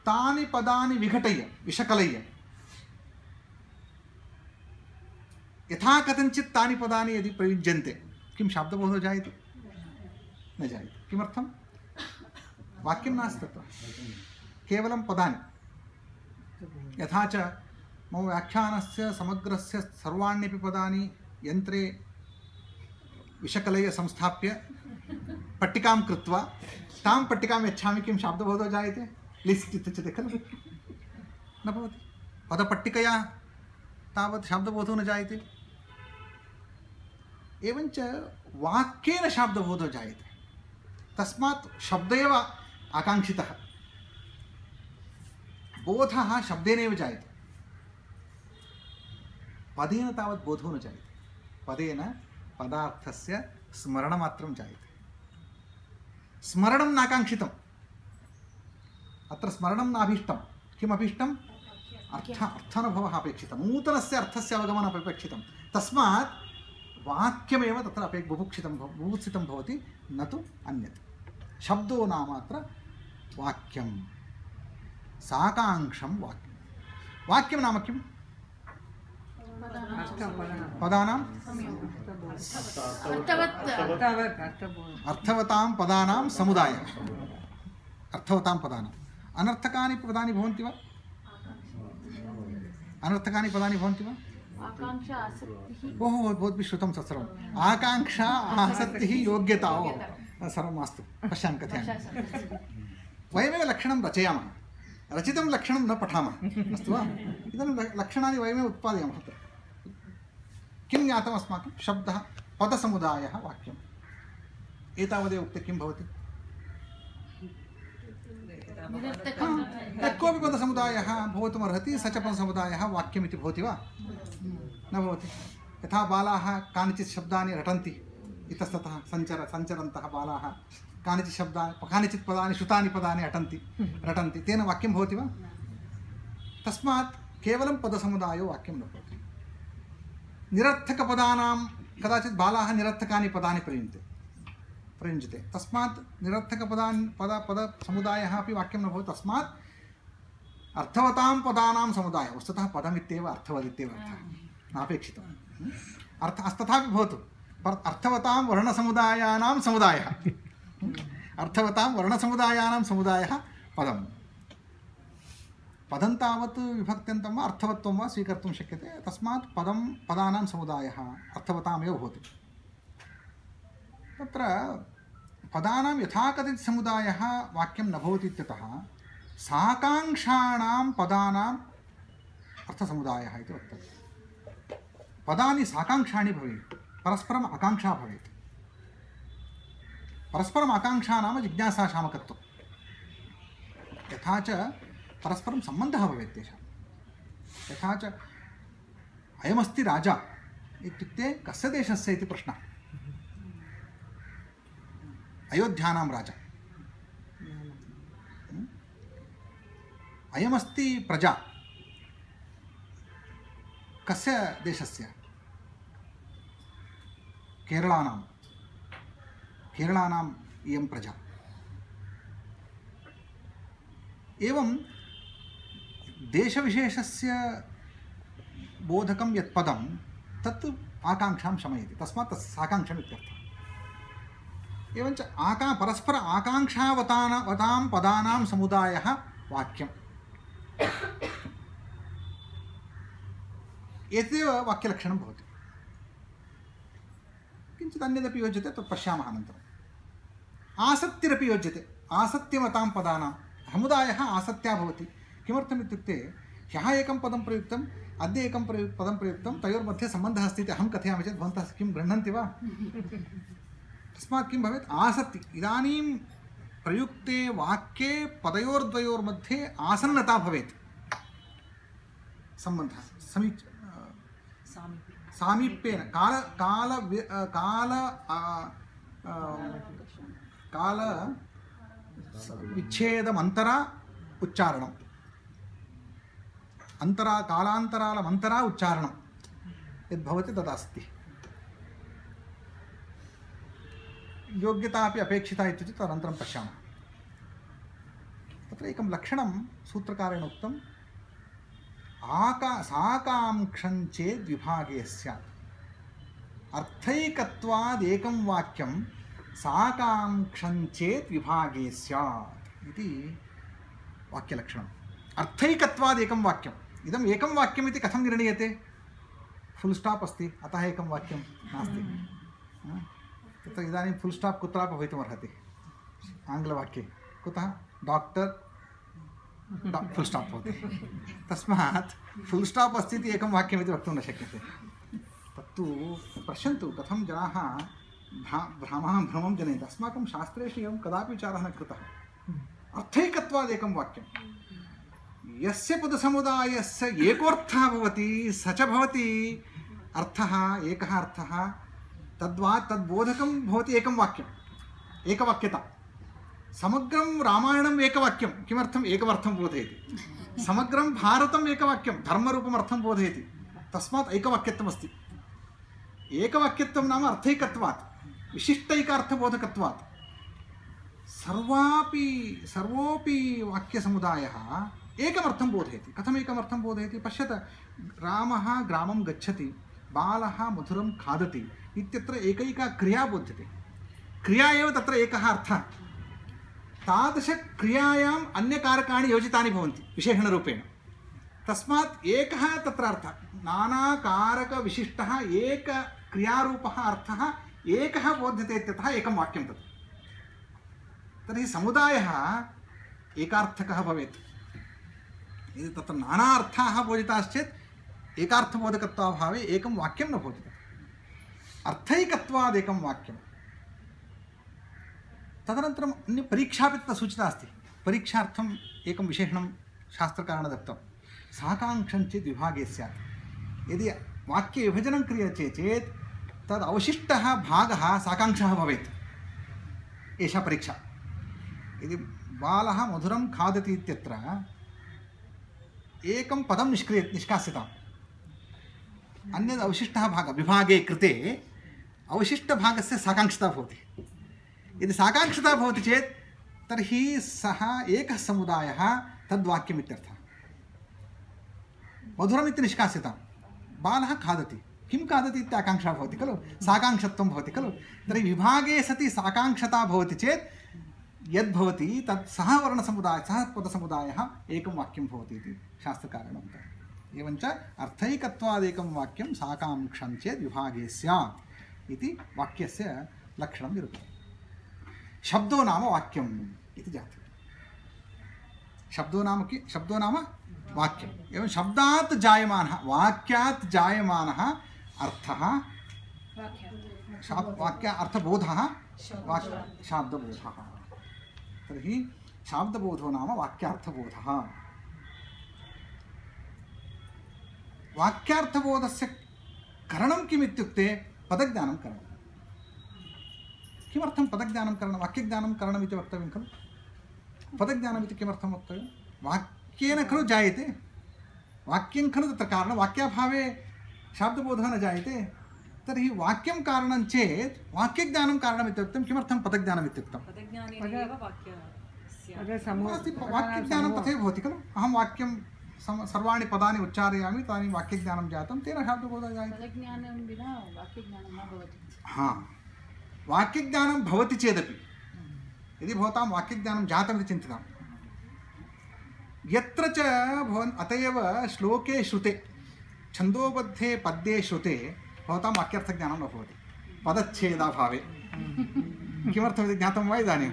तानि पदानि विघटय्य विषकलय्य यथा कथञ्चित् तानि पदानि यदि प्रयुज्यन्ते किं शाब्दबोधो जायते? न जायते। किमर्थं? वाक्यं नास्ति तत्र, केवलं पदानि। यथा च मम व्याख्यानस्य समग्रस्य सर्वाण्यपि पदानि यन्त्रे विषकलये संस्थाप्य पट्टिकां कृत्वा तां पट्टिकां यच्छामि, किं शाब्दबोधो जायते? लिस्ट् इत्युच्यते खलु, न भवति। पदपट्टिकया तावत् शाब्दबोधो न जायते। एवञ्च वाक्येन शाब्दबोधो जायते, तस्मात् शब्द एव आकाङ्क्षितः। बोधः शब्देनैव जायते, पदेन तावत् बोधो न जायते। पदेन पदार्थस्य स्मरणमात्रं जायते। स्मरणं नाकाङ्क्षितम्, अत्र स्मरणं नाभीष्टं। किमभीष्टम्? अर्थ अर्थानुभवः अपेक्षितः, नूतनस्य अर्थस्य अवगमनम् अपेक्षितं। तस्मात् वाक्यमेव तत्र अपे बुभुक्षितं बुभुत्सितं भवति, न तु अन्यत्। शब्दो नाम अत्र वाक्यं, साकाङ्क्षं वाक्यं। वाक्यं नाम किम्? पदानां अर्थवतां पदानां समुदायः। अर्थवतां पदानाम् अनर्थकानि पदानि भवन्ति वा? अनर्थकानि पदानि भवन्ति वा? ओहो, भवद्भिः श्रुतं तत्सर्वम्। आकाङ्क्षा, आसक्तिः, योग्यता, ओ सर्वं मास्तु, पश्यामि, कथयामि। वयमेव लक्षणं रचयामः, रचितं लक्षणं न पठामः, अस्तु वा? इदानीं लक्षणानि वयमेव उत्पादयामः। किं ज्ञातम् अस्माकं? शब्दः, पदसमुदायः, वाक्यम्। एतावदेव उक्ते किं भवति? यः कोऽपि पदसमुदायः भवितुमर्हति, स च पदसमुदायः वाक्यमिति भवति वा? न भवति। यथा बालाः कानिचित् शब्दानि रटन्ति, इतस्ततः सञ्चर सञ्चरन्तः बालाः कानिचित् शब्दानि, कानिचित् पदानि, श्रुतानि पदानि अटन्ति रटन्ति, तेन वाक्यं भवति वा? तस्मात् केवलं पदसमुदायो वाक्यं न भवति। निरर्थकपदानां कदाचित् बालाः निरर्थकानि पदानि प्रयुञ्जते प्रयुञ्जते तस्मात् निरर्थकपदान् पद पदसमुदायः अपि वाक्यं न भवति। तस्मात् अर्थवतां पदानां समुदायः, वस्तुतः पदमित्येव अर्थवदित्येव अर्थः, नापेक्षितम्। अर्थ तथापि भवतु, अर्थवतां वर्णसमुदायानां समुदायः, अर्थवतां वर्णसमुदायानां समुदायः पदम्। पदं तावत् विभक्त्यन्तं वा अर्थवत्वं वा स्वीकर्तुं शक्यते। तस्मात् पदं पदानां समुदायः अर्थवतामेव भवति। तत्र पदानां यथाकथित समुदायः वाक्यं न भवति इत्यतः साकाङ्क्षाणां पदानाम् अर्थसमुदायः इति वर्तते। पदानि साकाङ्क्षाणि भवेयुः, परस्परम् आकाङ्क्षा भवेत्। परस्परम् आकाङ्क्षा नाम जिज्ञासाशामकत्वं। यथा च परस्परं सम्बन्धः भवेत् तेषां। यथा च अयमस्ति राजा इत्युक्ते कस्य देशस्य इति प्रश्नः। अयोध्यानां राजा। अयमस्ति प्रजा, कस्य देशस्य? केरलानां केरलानाम् इयं प्रजा। एवं देशविशेषस्य बोधकं यत् पदं तत् आकाङ्क्षां शमयति, तस्मात् तत् साकाङ्क्षम् इत्यर्थः। एवञ्च आका परस्पर आकाङ्क्षावतां पदानां समुदायः वाक्यम्। एतदेव वाक्यलक्षणं भवति। किञ्चित् अन्यदपि योज्यते, तत् पश्यामः अनन्तरम्। आसक्तिरपि योज्यते। आसक्तिमतां पदानां समुदायः आसक्त्या भवति। किमर्थम् इत्युक्ते ह्यः एकं पदं प्रयुक्तम्, अद्य एकं प्रयु पदं प्रयुक्तं, तयोर्मध्ये सम्बन्धः अस्ति इति अहं कथयामि चेत् भवन्तः किं गृह्णन्ति वा? तस्मात् किं भवेत्? आसक्ति। इदानीं प्रयुक्ते वाक्ये पदयोर्द्वयोर्मध्ये आसन्नता भवेत्, सम्बन्धः समीच सामीप्येन काल काल काल काल विच्छेदमन्तरा उच्चारणम्, अन्तरा कालान्तरालमन्तरा उच्चारणं यद्भवति तदस्ति। योग्यता अपि अपेक्षिता इत्युक्ते तदनन्तरं पश्यामः। तत्र एकं लक्षणं सूत्रकारेण उक्तम्, आका साकाङ्क्षं चेद् विभागे स्यात्। अर्थैकत्वाद् एकं वाक्यं साकाङ्क्षं चेत् विभागे स्यात्। इति वाक्यलक्षणम्। अर्थैकत्वाद् एकं वाक्यम्। इदम् एकं वाक्यम् इति कथं निर्णीयते? फुल् स्टाप् अस्ति, अतः एकं वाक्यं नास्ति। तत्र इदानीं फुल् स्टाप् कुत्रापि भवितुमर्हति आङ्ग्लवाक्ये। कुतः? डाक्टर् फुल् स्टाप् भवति। तस्मात् फुल् स्टाप् अस्ति इति एकं वाक्यमिति वक्तुं न शक्यते। तत्तु पश्यन्तु कथं जनाः भ्रा भ्रामः भ्रमं जनयन्ति। अस्माकं शास्त्रेषु एवं कदापि विचारः न कृतः। अर्थैकत्वाद् एकं वाक्यं। यस्य पदसमुदायस्य एकोऽर्थः भवति स च भवति अर्थः, एकः अर्थः, तद्वा तद्बोधकं भवति एकं वाक्यम्, एकवाक्यता। समग्रं रामायणम् एकवाक्यं, किमर्थम्? एकमर्थं बोधयति। समग्रं भारतम् एकवाक्यं, धर्मरूपम् अर्थं बोधयति। तस्मात् एकवाक्यत्वमस्ति। एकवाक्यत्वं नाम अर्थैकत्वात्, विशिष्टैकार्थबोधकत्वात्। सर्वापि सर्वोऽपि वाक्यसमुदायः एकमर्थं बोधयति। कथम् एकमर्थं बोधयति? पश्यत, रामः ग्रामं गच्छति, बालः मधुरं खादति इत्यत्र एकैका क्रिया बोध्यते। क्रिया एव तत्र एकः अर्थः। तादृशक्रियायाम् अन्यकारकाणि योजितानि भवन्ति विशेषणरूपेण। तस्मात् एकः तत्र अर्थः, नानाकारकविशिष्टः एकक्रियारूपः अर्थः एकः बोध्यते इत्यतः एकं वाक्यं तत्। तर्हि समुदायः एकार्थकः भवेत्। यदि तत्र नाना अर्थाः बोधिताश्चेत् एकार्थबोधकत्वाभावे एकं वाक्यं न भवति। अर्थैकत्वाद् एकं वाक्यं। तदनन्तरम् अन्य परीक्षापि तत्र सूचिता अस्ति। परीक्षार्थम् एकं विशेषणं शास्त्रकारेण दत्तं। साकाङ्क्षं चेत् विभागे स्यात्। यदि वाक्यविभजनं क्रियते चेत् तद् अवशिष्टः भागः साकाङ्क्षः भवेत्। एषा परीक्षा। यदि बालः मधुरं खादति इत्यत्र एकं पदं निष्क्रिय निष्कास्यताम्। अन्यद् अवशिष्टः भागः विभागे कृते अवशिष्टभागस्य साकाङ्क्षता भवति। यदि साकाङ्क्षता भवति चेत् तर्हि सः एकः समुदायः तद्वाक्यम् इत्यर्थः। मधुरम् इति निष्कास्यताम्। बालः खादति, किं खादति इति आकाङ्क्षा भवति खलु, साकाङ्क्षत्वं भवति खलु। तर्हि विभागे सति साकाङ्क्षता भवति चेत् यद्भवति तत् सः वर्णसमुदायः, सः पदसमुदायः एकं वाक्यं भवति इति शास्त्रकारेण उक्तम्। एवञ्च अर्थैकत्वादेकं वाक्यं साकाङ्क्षं चेत् विभागे स्यात् इति वाक्यस्य लक्षणं निरूप्यते। शब्दो नाम वाक्यम् इति जातं। शब्दो नाम कि शब्दो नाम वाक्यम्। एवं शब्दात् जायमानः, वाक्यात् जायमानः अर्थः, वाक्य अर्थबोधः, शाब्दबोधः। तर्हि शाब्दबोधो नाम वाक्यार्थबोधः। वाक्यार्थबोधस्य करणं किम् इत्युक्ते पदज्ञानं करणं। किमर्थं पदज्ञानं करणं, वाक्यज्ञानं करणम् इति वक्तव्यं खलु। पदज्ञानम् इति किमर्थं वक्तव्यं? वाक्येन खलु जायते, वाक्यं खलु तत्र कारणं। वाक्याभावे शाब्दबोधः न जायते। तर्हि वाक्यं कारणं चेत् वाक्यज्ञानं कारणम् इत्युक्तं। किमर्थं पदज्ञानम् इत्युक्तं? वाक्यज्ञानं तथैव भवति खलु। अहं वाक्यं सर्वाणि पदानि उच्चारयामि, तदानीं वाक्यज्ञानं जातं, तेन शाब्दबोधः जायते। पदज्ञानं विना वाक्यज्ञानं न भवति। हा, वाक्यज्ञानं भवति चेदपि यदि भवतां वाक्यज्ञानं जातमिति चिन्तितां, यत्र च भवन् अत एव श्लोके श्रुते छन्दोबद्धे पद्ये श्रुते भवतां वाक्यार्थज्ञानं न भवति पदच्छेदाभावे। किमर्थमिति ज्ञातं वा इदानीं?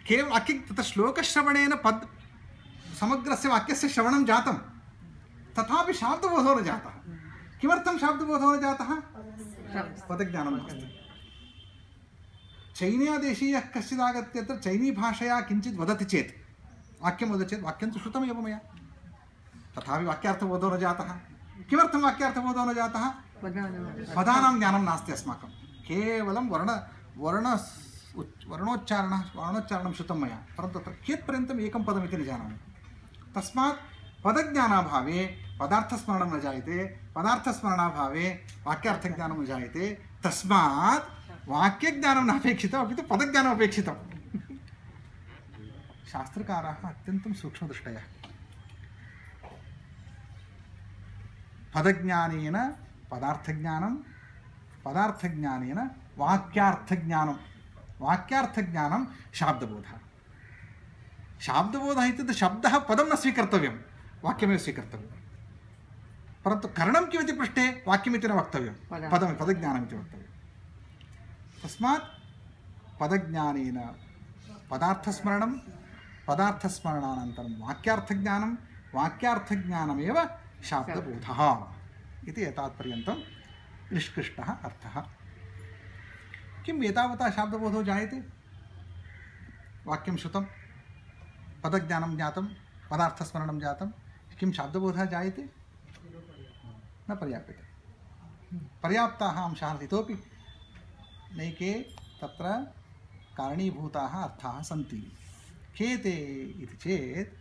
केवलं वाक्य तत्र श्लोकश्रवणेन पद् समग्रस्य वाक्यस्य श्रवणं जातं, तथापि शाब्दबोधो न जातः। किमर्थं शाब्दबोधो न जातः? पदज्ञानं नास्ति। चैनीयदेशीयः कश्चिदागत्य अत्र चैनीभाषया किञ्चित् वदति चेत्, वाक्यं वदति चेत् वाक्यं तु श्रुतमेव मया, तथापि वाक्यार्थबोधो न जातः। किमर्थं वाक्यार्थबोधो न जातः? पदानां ज्ञानं नास्ति अस्माकं। केवलं वर्ण वर्ण वर्णोच्चारणः वर्णोच्चारणं श्रुतं मया, परन्तु तत्र कियत्पर्यन्तम् एकं पदमिति न जानामि। तस्मात् पदज्ञानाभावे पदार्थस्मरणं न जायते, पदार्थस्मरणाभावे वाक्यार्थज्ञानं न जायते। तस्मात् वाक्यज्ञानं नापेक्षितम्, अपि तु पदज्ञानम् अपेक्षितं। शास्त्रकाराः अत्यन्तं सूक्ष्मदृष्टयः। पदज्ञानेन पदार्थज्ञानं, पदार्थज्ञानेन वाक्यार्थज्ञानं, वाक्यार्थज्ञानं शाब्दबोधः। शाब्दबोधः इत्युक्ते शब्दः पदं न स्वीकर्तव्यं, वाक्यमेव स्वीकर्तव्यं। परन्तु करणं किमिति पृष्टे वाक्यमिति न वक्तव्यं, पदं पदज्ञानमिति वक्तव्यं। तस्मात् पदज्ञानेन पदार्थस्मरणं, पदार्थस्मरणानन्तरं वाक्यार्थज्ञानं, वाक्यार्थज्ञानमेव शाब्दबोधः इति एतावत्पर्यन्तं निष्कृष्टः अर्थः। किम् एतावता शाब्दबोधो जायते? वाक्यं श्रुतं, पदज्ञानं ज्ञातं, पदार्थस्मरणं जातं, किं शाब्दबोधः जायते? न पर्याप्यते। पर्याप्ताः अंशाः इतोपि नैके तत्र कारणीभूताः अर्थाः सन्ति। के ते इति चेत्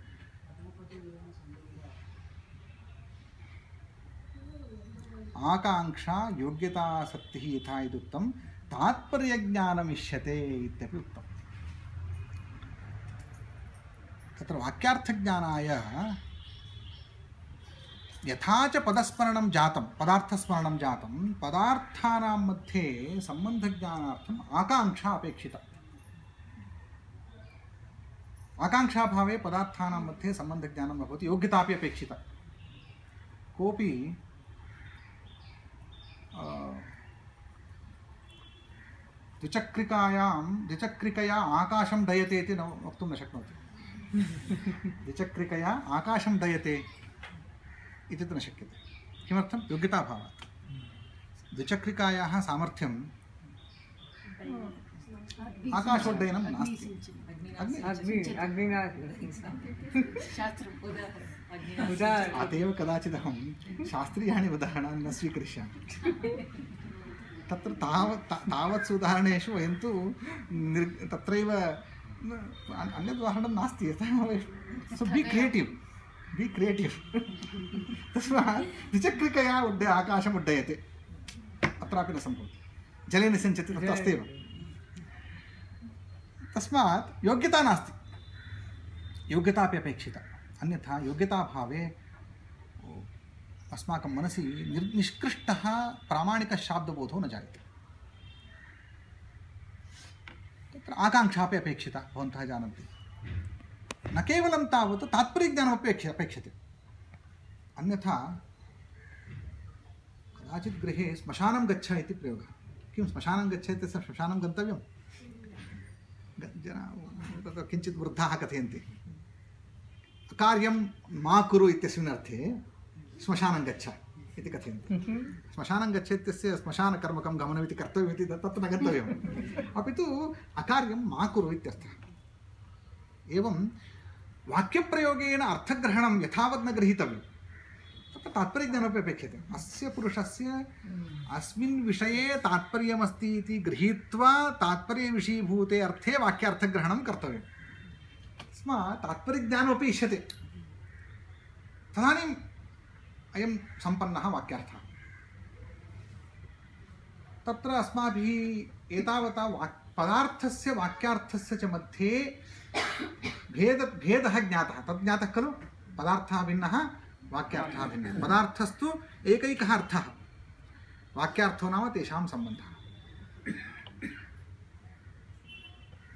आकाङ्क्षा योग्यतासक्तिः यथा यदुक्तं तात्पर्यज्ञानमिष्यते इत्यपि उक्तम्। तत्र वाक्यार्थज्ञानाय यथा च पदस्मरणं जातं, पदार्थस्मरणं जातं, पदार्थानां मध्ये सम्बन्धज्ञानार्थम् आकाङ्क्षा अपेक्षिता। आकाङ्क्षाभावे पदार्थानां मध्ये सम्बन्धज्ञानं न भवति, योग्यतापि अपेक्षिता। कोऽपि द्विचक्रिकायां द्विचक्रिकया आकाशं दयते इति न वक्तुं न शक्नोति। द्विचक्रिकया आकाशं दयते इति तु न शक्यते। किमर्थं? योग्यताभावात्। द्विचक्रिकायाः सामर्थ्यं आकाशोड्डयनं नास्ति। अत एव कदाचिदहं शास्त्रीयाणि उदाहरणानि न स्वीकरिष्यामि। तत्र तावत् तावत्सु उदाहरणेषु वयं तु निर् तत्रैव अन्यद् उदाहरणं नास्ति। यतः सो बी क्रियेटिव्, बी क्रियेटिव्। तस्मात् द्विचक्रिकया उड्ड आकाशम् उड्डयते, अत्रापि न सम्भवति। जले निसञ्चति, तत्र अस्त्येव। तस्मात् योग्यता नास्ति, योग्यता अपि अपेक्षिता। अन्यथा योग्यताभावे अस्माकं मनसि निर् निष्कृष्टः प्रामाणिकशाब्दबोधो न जायते। तत्र आकाङ्क्षा अपि अपेक्षिता, भवन्तः जानन्ति। न केवलं तावत् तात्पर्यज्ञानमपि अपेक्षते। अन्यथा कदाचित् गृहे श्मशानं गच्छ इति प्रयोगः। किं श्मशानं गच्छ इत्यस्य श्मशानं गन्तव्यं? जनाः किञ्चित् वृद्धाः कथयन्ति, कार्यं मा कुरु इत्यस्मिन् अर्थे श्मशानं गच्छ इति कथयन्ति। श्मशानं गच्छ इत्यस्य श्मशानकर्मकं गमनमिति कर्तव्यमिति तत्र न गन्तव्यम्, अपि तु अकार्यं मा कुरु इत्यर्थः। एवं वाक्यप्रयोगेन अर्थग्रहणं यथावत् न गृहीतव्यं, तत्र तात्पर्यज्ञानमपि अपेक्षते। अस्य पुरुषस्य अस्मिन् विषये तात्पर्यमस्ति इति गृहीत्वा तात्पर्यविषयीभूते अर्थे वाक्यार्थग्रहणं कर्तव्यं। तस्मात् तात्पर्यज्ञानमपि इष्यते, तदानीम् अयं सम्पन्नः वाक्यार्थः। तत्र अस्माभिः एतावता वाक् पदार्थस्य वाक्यार्थस्य च मध्ये भेद भेदः ज्ञातः। तद् ज्ञातः खलु? पदार्थः भिन्नः, वाक्यार्थः भिन्नः। पदार्थस्तु एकैकः अर्थः, वाक्यार्थो नाम तेषां सम्बन्धः।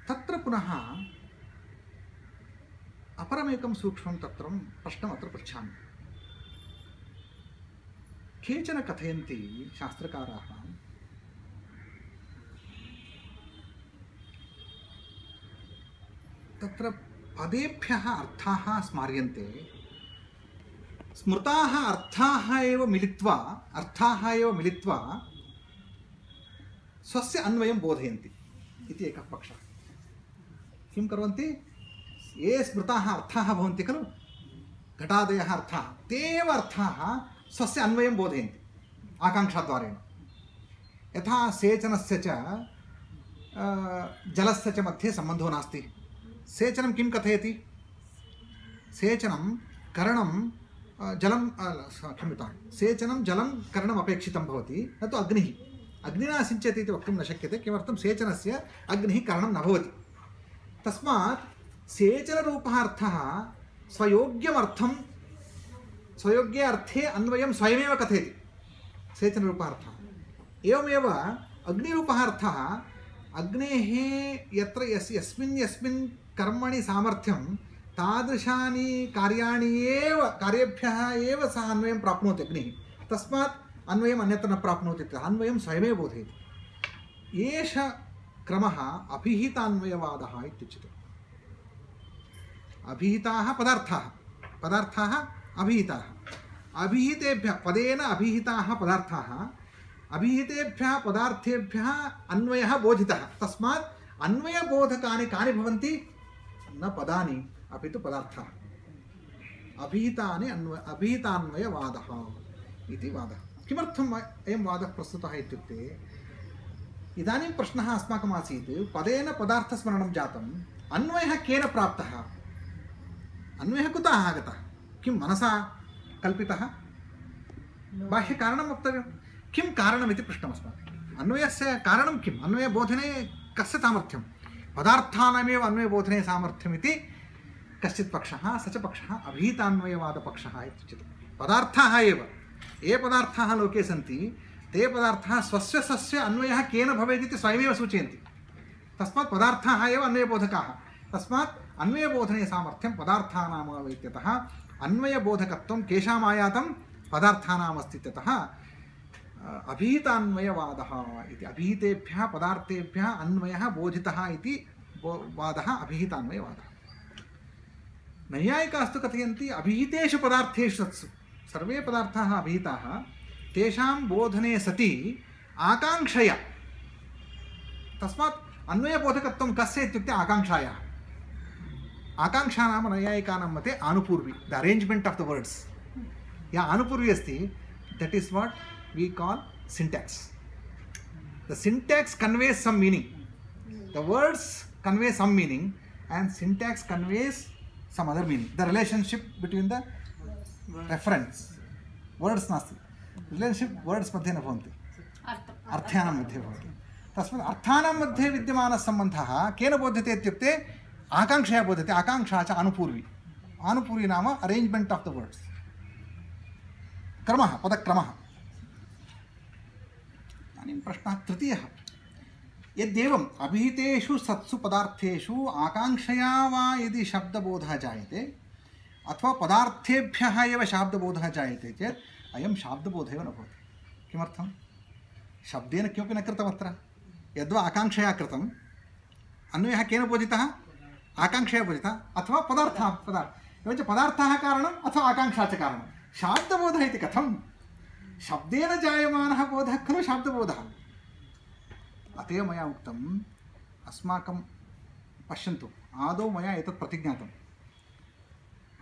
तत्र पुनः अपरमेकं सूक्ष्मं तत्रं प्रश्नम् अत्र पृच्छामि। केचन कथयन्ति शास्त्रकाराः, तत्र पदेभ्यः अर्थाः स्मार्यन्ते, स्मृताः अर्थाः एव मिलित्वा अर्थाः एव मिलित्वा स्वस्य अन्वयं बोधयन्ति इति एकः पक्षः। किं कुर्वन्ति? ये स्मृताः अर्थाः भवन्ति खलु, घटादयः अर्थाः, ते एव अर्थाः स्वस्य अन्वयं बोधयन्ति आकाङ्क्षाद्वारेण। यथा सेचनस्य च जलस्य च मध्ये सम्बन्धो नास्ति। सेचनं किं कथयति? सेचनं करणं जलं क्षम्यतां, सेचनं जलं करणम् अपेक्षितं भवति, न तु अग्निः। अग्निना सिञ्चति इति वक्तुं न शक्यते। किमर्थं? सेचनस्य अग्निः करणं न भवति। तस्मात् सेचनरूपः अर्थः स्वयोग्यमर्थं स्वयोग्ये अर्थे अन्वयं स्वयमेव कथयति सेचनरूपः अर्थः। एवमेव अग्निरूपः अर्थः अग्नेः यत्र यस् यस्मिन् यस्मिन् कर्मणि सामर्थ्यं तादृशानि कार्याणि एव कार्येभ्यः एव सः अन्वयं प्राप्नोति अग्निः, तस्मात् अन्वयम् अन्यत्र न प्राप्नोति, अन्वयं स्वयमेव बोधयति। एष क्रमः अभिहितान्वयवादः इत्युच्यते। अभिहिताः पदार्थाः, पदार्थाः अभिहिताः, अभिहितेभ्यः पदेन अभिहिताः पदार्थाः, अभिहितेभ्यः पदार्थेभ्यः अन्वयः बोधितः, तस्मात् अन्वयबोधकानि कानि भवन्ति? न पदानि अपि तु पदार्थाः। अभिहितानि अन्वय अभिहितान्वयवादः इति वादः। किमर्थम् अयं वादः प्रस्तुतः इत्युक्ते, इदानीं प्रश्नः अस्माकम् आसीत्, पदेन पदार्थस्मरणं जातम्, अन्वयः केन प्राप्तः? अन्वयः कुतः आगतः? किं मनसा कल्पितः? बाह्यकारणं वक्तव्यं। किं कारणमिति पृष्टम् अस्माभिः। अन्वयस्य कारणं किम्? अन्वयबोधने कस्य सामर्थ्यं? पदार्थानामेव अन्वयबोधने सामर्थ्यमिति कश्चित् पक्षः, स च पक्षः अभिहितान्वयवादपक्षः इत्युच्यते। पदार्थाः एव, ये पदार्थाः लोके सन्ति ते पदार्थाः स्वस्य स्वस्य अन्वयः केन भवेत् इति स्वयमेव सूचयन्ति। तस्मात् पदार्थाः एव अन्वयबोधकाः। तस्मात् अन्वयबोधने सामर्थ्यं पदार्थानाम् इत्यतः अन्वयबोधकत्वं केषाम् आयातं? पदार्थानाम् अस्ति इत्यतः अभिहितान्वयवादः इति। अभिहितेभ्यः पदार्थेभ्यः अन्वयः बोधितः इति वादः अभिहितान्वयवादः। नैयायिकास्तु कथयन्ति अभिहितेषु पदार्थेषु सत्सु, सर्वे पदार्थाः अभिहिताः, तेषां बोधने सति आकाङ्क्षया, तस्मात् अन्वयबोधकत्वं कस्य इत्युक्ते आकाङ्क्षायाः। आकाङ्क्षा नाम नैयायिकानां मते आनुपूर्वी, the arrangement of the words. या आनुपूर्वी अस्ति, that is what we call syntax. The syntax conveys some meaning, the words convey some meaning, and syntax conveys some other meaning. The relationship between the reference words nasti, relationship words मध्ये न भवन्ति, अर्थानां मध्ये भवति। तस्मात् अर्थानां मध्ये विद्यमानः सम्बन्धः केन बोध्यते इत्युक्ते आकाङ्क्षया बोध्यते। आकाङ्क्षा च आनुपूर्वी। आनुपूर्वी नाम अरेञ्ज्मेण्ट् आफ् द वर्ड्स्, क्रमः, पदक्रमः। इदानीं प्रश्नः तृतीयः, यद्येवम् अभिहितेषु सत्सु पदार्थेषु आकाङ्क्षया वा यदि शब्दबोधः जायते अथवा पदार्थेभ्यः एव शब्दबोधः जायते चेत् अयं शाब्दबोधः एव न भवति। किमर्थं? शब्देन किमपि न कृतम् अत्र। यद्वा आकाङ्क्षया कृतम्, अन्वयः केन बोधितः? आकाङ्क्षया बोधितः, अथवा पदार्थः पदार्थ एवञ्च पदार्थः कारणम् अथवा आकाङ्क्षा च कारणं। शाब्दबोधः इति कथं? शब्देन जायमानः बोधः खलु शाब्दबोधः। अतः मया उक्तम्, अस्माकं पश्यन्तु, आदौ मया एतत् प्रतिज्ञातम्,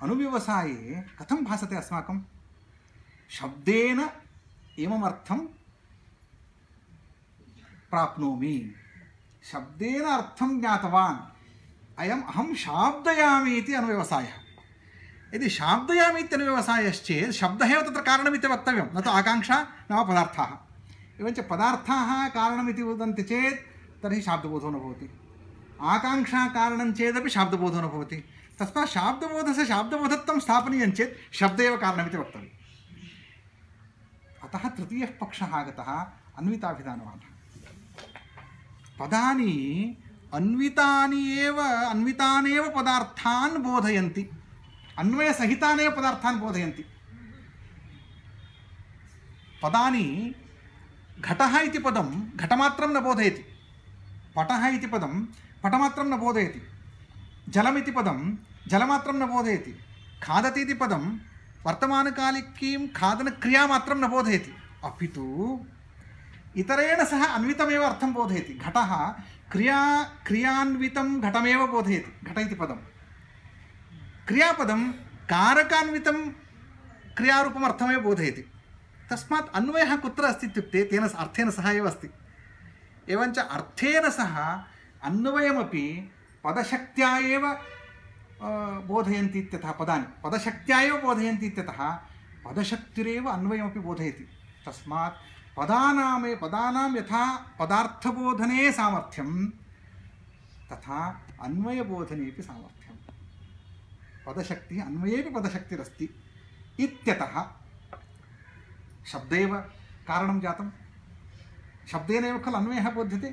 अनुव्यवसाये कथं भासते अस्माकं? शब्देन एवम् अर्थं प्राप्नोमि, शब्देन अर्थं ज्ञातवान्, अयम् अहं शाब्दयामि इति अनुव्यवसायः। यदि शाब्दयामि इति अनुव्यवसायश्चेत् शब्दः एव तत्र कारणमिति वक्तव्यं, न तु आकाङ्क्षा नाम पदार्थाः। एवञ्च पदार्थाः कारणमिति वदन्ति चेत् तर्हि शाब्दबोधो न भवति, आकाङ्क्षा कारणं चेदपि शाब्दबोधो न भवति। तस्मात् शाब्दबोधस्य शाब्दबोधत्वं स्थापनीयं चेत् शब्द एव कारणमिति वक्तव्यम्। अतः तृतीयः पक्षः आगतः, अन्विताभिधानवादः। पदानि अन्वितानि एव अन्वितानेव पदार्थान् बोधयन्ति, अन्वयसहितानेव पदार्थान् बोधयन्ति। पदानि घटः इति पदं घटमात्रं न बोधयति, पटः इति पदं पटमात्रं न बोधयति, जलमिति पदं जलमात्रं न बोधयति, खादति इति पदं वर्तमानकालिकीं खादनक्रियामात्रं न बोधयति, अपि तु इतरेण सह अन्वितमेव अर्थं बोधयति। घटः क्रिया क्रियान्वितं घटमेव बोधयति, घट इति पदं। क्रियापदं कारकान्वितं क्रियारूपम् अर्थमेव बोधयति। तस्मात् अन्वयः कुत्र अस्ति इत्युक्ते तेन अर्थेन सह एव अस्ति। एवञ्च अर्थेन सह अन्वयमपि पदशक्त्या एव बोधयन्ति इत्यतः, पदानि पदशक्त्या एव बोधयन्ति इत्यतः पदशक्तिरेव अन्वयमपि बोधयति। तस्मात् पदानामे पदानां यथा पदार्थबोधने सामर्थ्यं तथा अन्वयबोधनेपि सामर्थ्यं। पदशक्तिः अन्वयेपि पदशक्तिरस्ति इत्यतः शब्देव कारणं जातं, शब्देनैव खलु अन्वयः बोध्यते।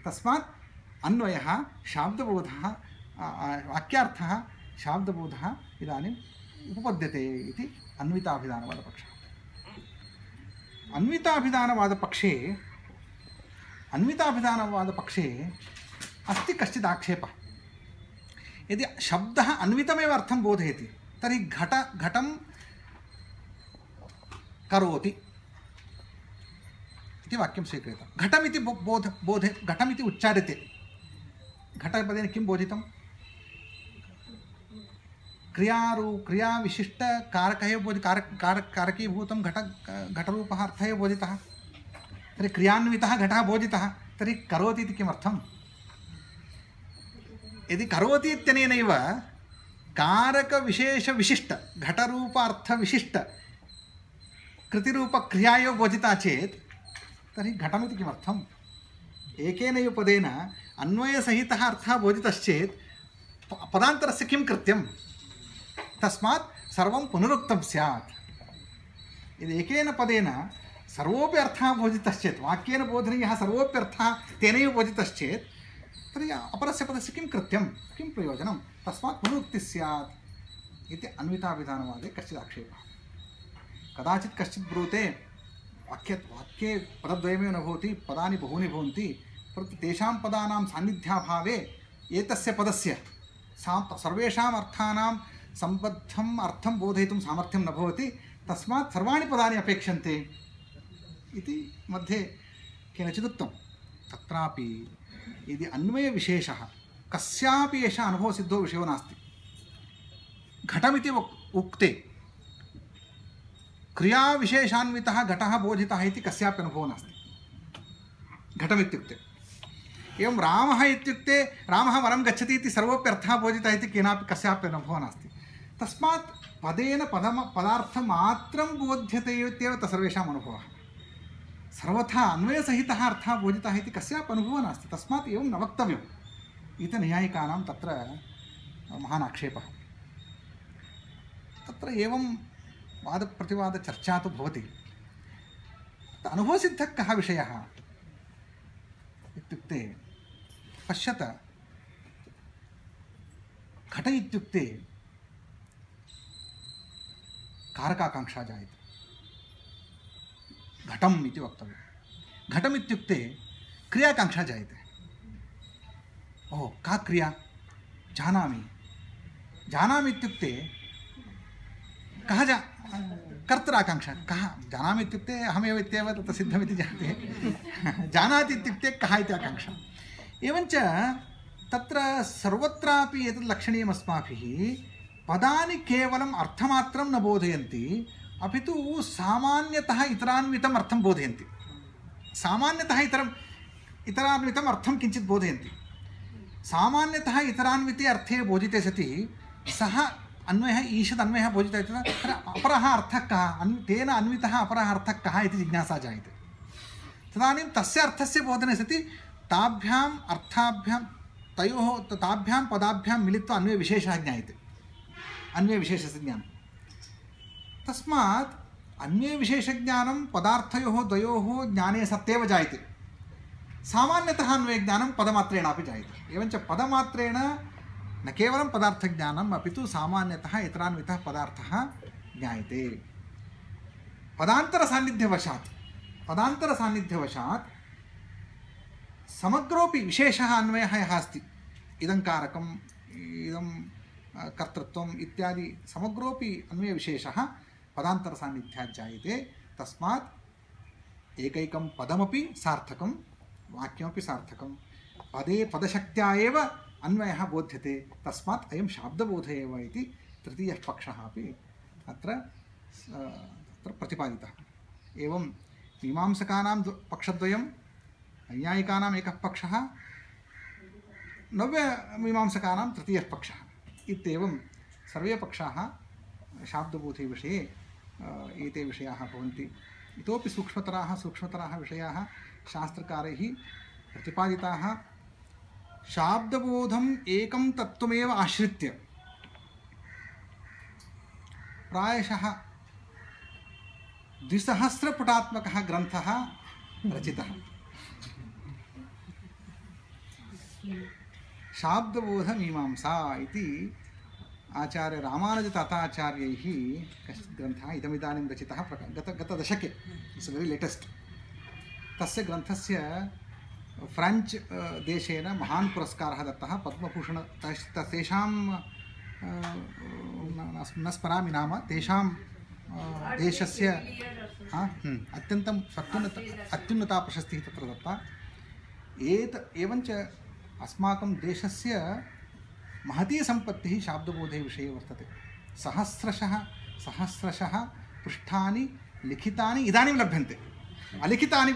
तस्मात् अन्वयः, शाब्दबोधः, वाक्यार्थः शाब्दबोधः इदानीम् उपपद्यते इति अन्विताभिधानवादपक्षः। अन्विताभिधानवादपक्षे अन्विताभिधानवादपक्षे अस्ति कश्चित् आक्षेपः। यदि शब्दः अन्वितमेव अर्थं बोधयति तर्हि घट घटं करोति इति वाक्यं स्वीक्रियते। घटमिति बोध बोधे घटमिति उच्चार्यते। घटपदेन किं बोधितं? क्रियारू क्रियाविशिष्ट कारकः एव बोधि कारक कारक कारकीभूतं घट घटरूपः अर्थः एव बोधितः। तर्हि क्रियान्वितः घटः बोधितः, तर्हि करोति इति किमर्थं? यदि करोति इत्यनेनैव कारकविशेषविशिष्ट घटरूप अर्थविशिष्ट कृतिरूपक्रिया एव बोधिता चेत् तर्हि घटमिति किमर्थम्? एकेनैव पदेन अन्वयसहितः अर्थः बोधितश्चेत् पदान्तरस्य किं कृत्यं? तस्मात् सर्वं पुनरुक्तं स्यात्। यदि एकेन पदेन सर्वोपि अर्थः बोधितश्चेत्, वाक्येन बोधनीयः सर्वोपि अर्थः तेनैव बोधितश्चेत् तर्हि अपरस्य पदस्य किं कृत्यं, किं प्रयोजनं? तस्मात् पुनरुक्तिः स्यात् इति अन्विताभिधानवादे कश्चित् आक्षेपः। कदाचित् कश्चित् ब्रूते वाक्ये वाक्ये पदद्वयमेव न भवति, पदानि बहूनि भवन्ति, परन्तु तेषां पदानां सान्निध्याभावे एतस्य पदस्य सा सर्वेषाम् अर्थानां सम्बद्धम् अर्थं बोधयितुं सामर्थ्यं न भवति, तस्मात् सर्वाणि पदानि अपेक्षन्ते इति मध्ये केनचित् उक्तं। तत्रापि यदि अन्वयविशेषः कस्यापि एषः अनुभवसिद्धो विषयो नास्ति, घटमिति उक्ते क्रियाविशेषान्वितः घटः बोधितः इति कस्यापि अनुभवो नास्ति घटमित्युक्ते। एवं रामः इत्युक्ते रामः वनं गच्छति इति सर्वोपि अर्थः बोधितः इति केनापि कस्यापि अनुभवो नास्ति। तस्मात् पदेन पदम पदार्थमात्रं बोध्यते इत्येव सर्वेषाम् अनुभवः। सर्वथा अन्वयसहितः अर्थः बोधितः इति कस्यापि अनुभवो नास्ति। तस्मात् एवं न वक्तव्यम् इति नैयायिकानां तत्र महान् आक्षेपः। तत्र एवं वादप्रतिवादचर्चा तु भवति। अनुभवसिद्धः कः विषयः इत्युक्ते पश्यत, घट इत्युक्ते कारकाकाङ्क्षा जायते, घटम् इति वक्तव्यं। घटम् इत्युक्ते क्रियाकाङ्क्षा जायते। ओहो, का क्रिया? जानामि। जानामि इत्युक्ते कः जा कर्तराकाङ्क्षा कः? जानामि इत्युक्ते अहमेव इत्येव तत्र सिद्धमिति जायते। जानाति इत्युक्ते कः इति आकाङ्क्षा। एवञ्च तत्र सर्वत्रापि एतत् लक्षणीयम् अस्माभिः, पदानि केवलम् अर्थमात्रं न बोधयन्ति, अपि तु सामान्यतः इतरान्वितम् अर्थं बोधयन्ति। सामान्यतः इतरम् इतरान्वितम् अर्थं किञ्चित् बोधयन्ति। सामान्यतः इतरान्विते अर्थे बोधिते सति सः अन्वयः ईषद् अन्वयः बोधितः इति तत्र अपरः अर्थः कः, अन् तेन अन्वितः अपरः अर्थः कः इति जिज्ञासा जायते। तदानीं तस्य अर्थस्य बोधने सति ताभ्याम् अर्थाभ्यां तयोः ताभ्यां पदाभ्यां मिलित्वा अन्वयविशेषः ज्ञायते, अन्वयविशेषस्य ज्ञानं। तस्मात् अन्वयविशेषज्ञानं पदार्थयोः द्वयोः ज्ञाने सत्येव जायते। सामान्यतः अन्वयज्ञानं पदमात्रेणापि जायते। एवञ्च पदमात्रेण न केवलं पदार्थज्ञानम् अपि तु सामान्यतः इतरान्वितः पदार्थः ज्ञायते। पदान्तरसान्निध्यवशात् पदान्तरसान्निध्यवशात् समग्रोऽपि विशेषः अन्वयः यः अस्ति, इदं कारकम् इदं कर्तृत्वम् इत्यादि समग्रोऽपि अन्वयविशेषः पदान्तरसान्निध्यात् जायते। तस्मात् एकैकं पदमपि सार्थकं, वाक्यमपि सार्थकं, पदे पदशक्त्या एव अन्वयः बोध्यते। तस्मात् अयं शाब्दबोधः एव इति तृतीयः पक्षः अपि अत्र अत्र प्रतिपादितः। एवं मीमांसकानां पक्षद्वयं, नैयायिकानाम् एकः पक्षः, नव्यमीमांसकानां तृतीयः पक्षः इत्येवं सर्वे पक्षाः शाब्दबोधे विषये एते विषयाः भवन्ति। इतोपि सूक्ष्मतराः सूक्ष्मतराः विषयाः शास्त्रकारैः प्रतिपादिताः। शाब्दबोधम् एकं तत्त्वमेव आश्रित्य प्रायशः द्विसहस्रपुटात्मकः ग्रन्थः रचितः। शाब्दबोधमीमांसा इति आचार्य रामानुजताताचार्यैः कश्चित् ग्रन्थः इदमिदानीं रचितः प्रका गत गतदशके इट्स् वेरि लेटेस्ट् तस्य ग्रन्थस्य फ्रेञ्च् देशेन महान् पुरस्कारः दत्तः पद्मभूषण तेषां न स्मरामि नाम तेषां देशस्य अत्यन्तं अत्युन्नत अत्युन्नता प्रशस्तिः तत्र दत्ता एत एवञ्च अस्माकं देशस्य महती सम्पत्तिः शाब्दबोधे विषये वर्तते सहस्रशः सहस्रशः पृष्ठानि लिखितानि इदानीं लभ्यन्ते अलिखितानि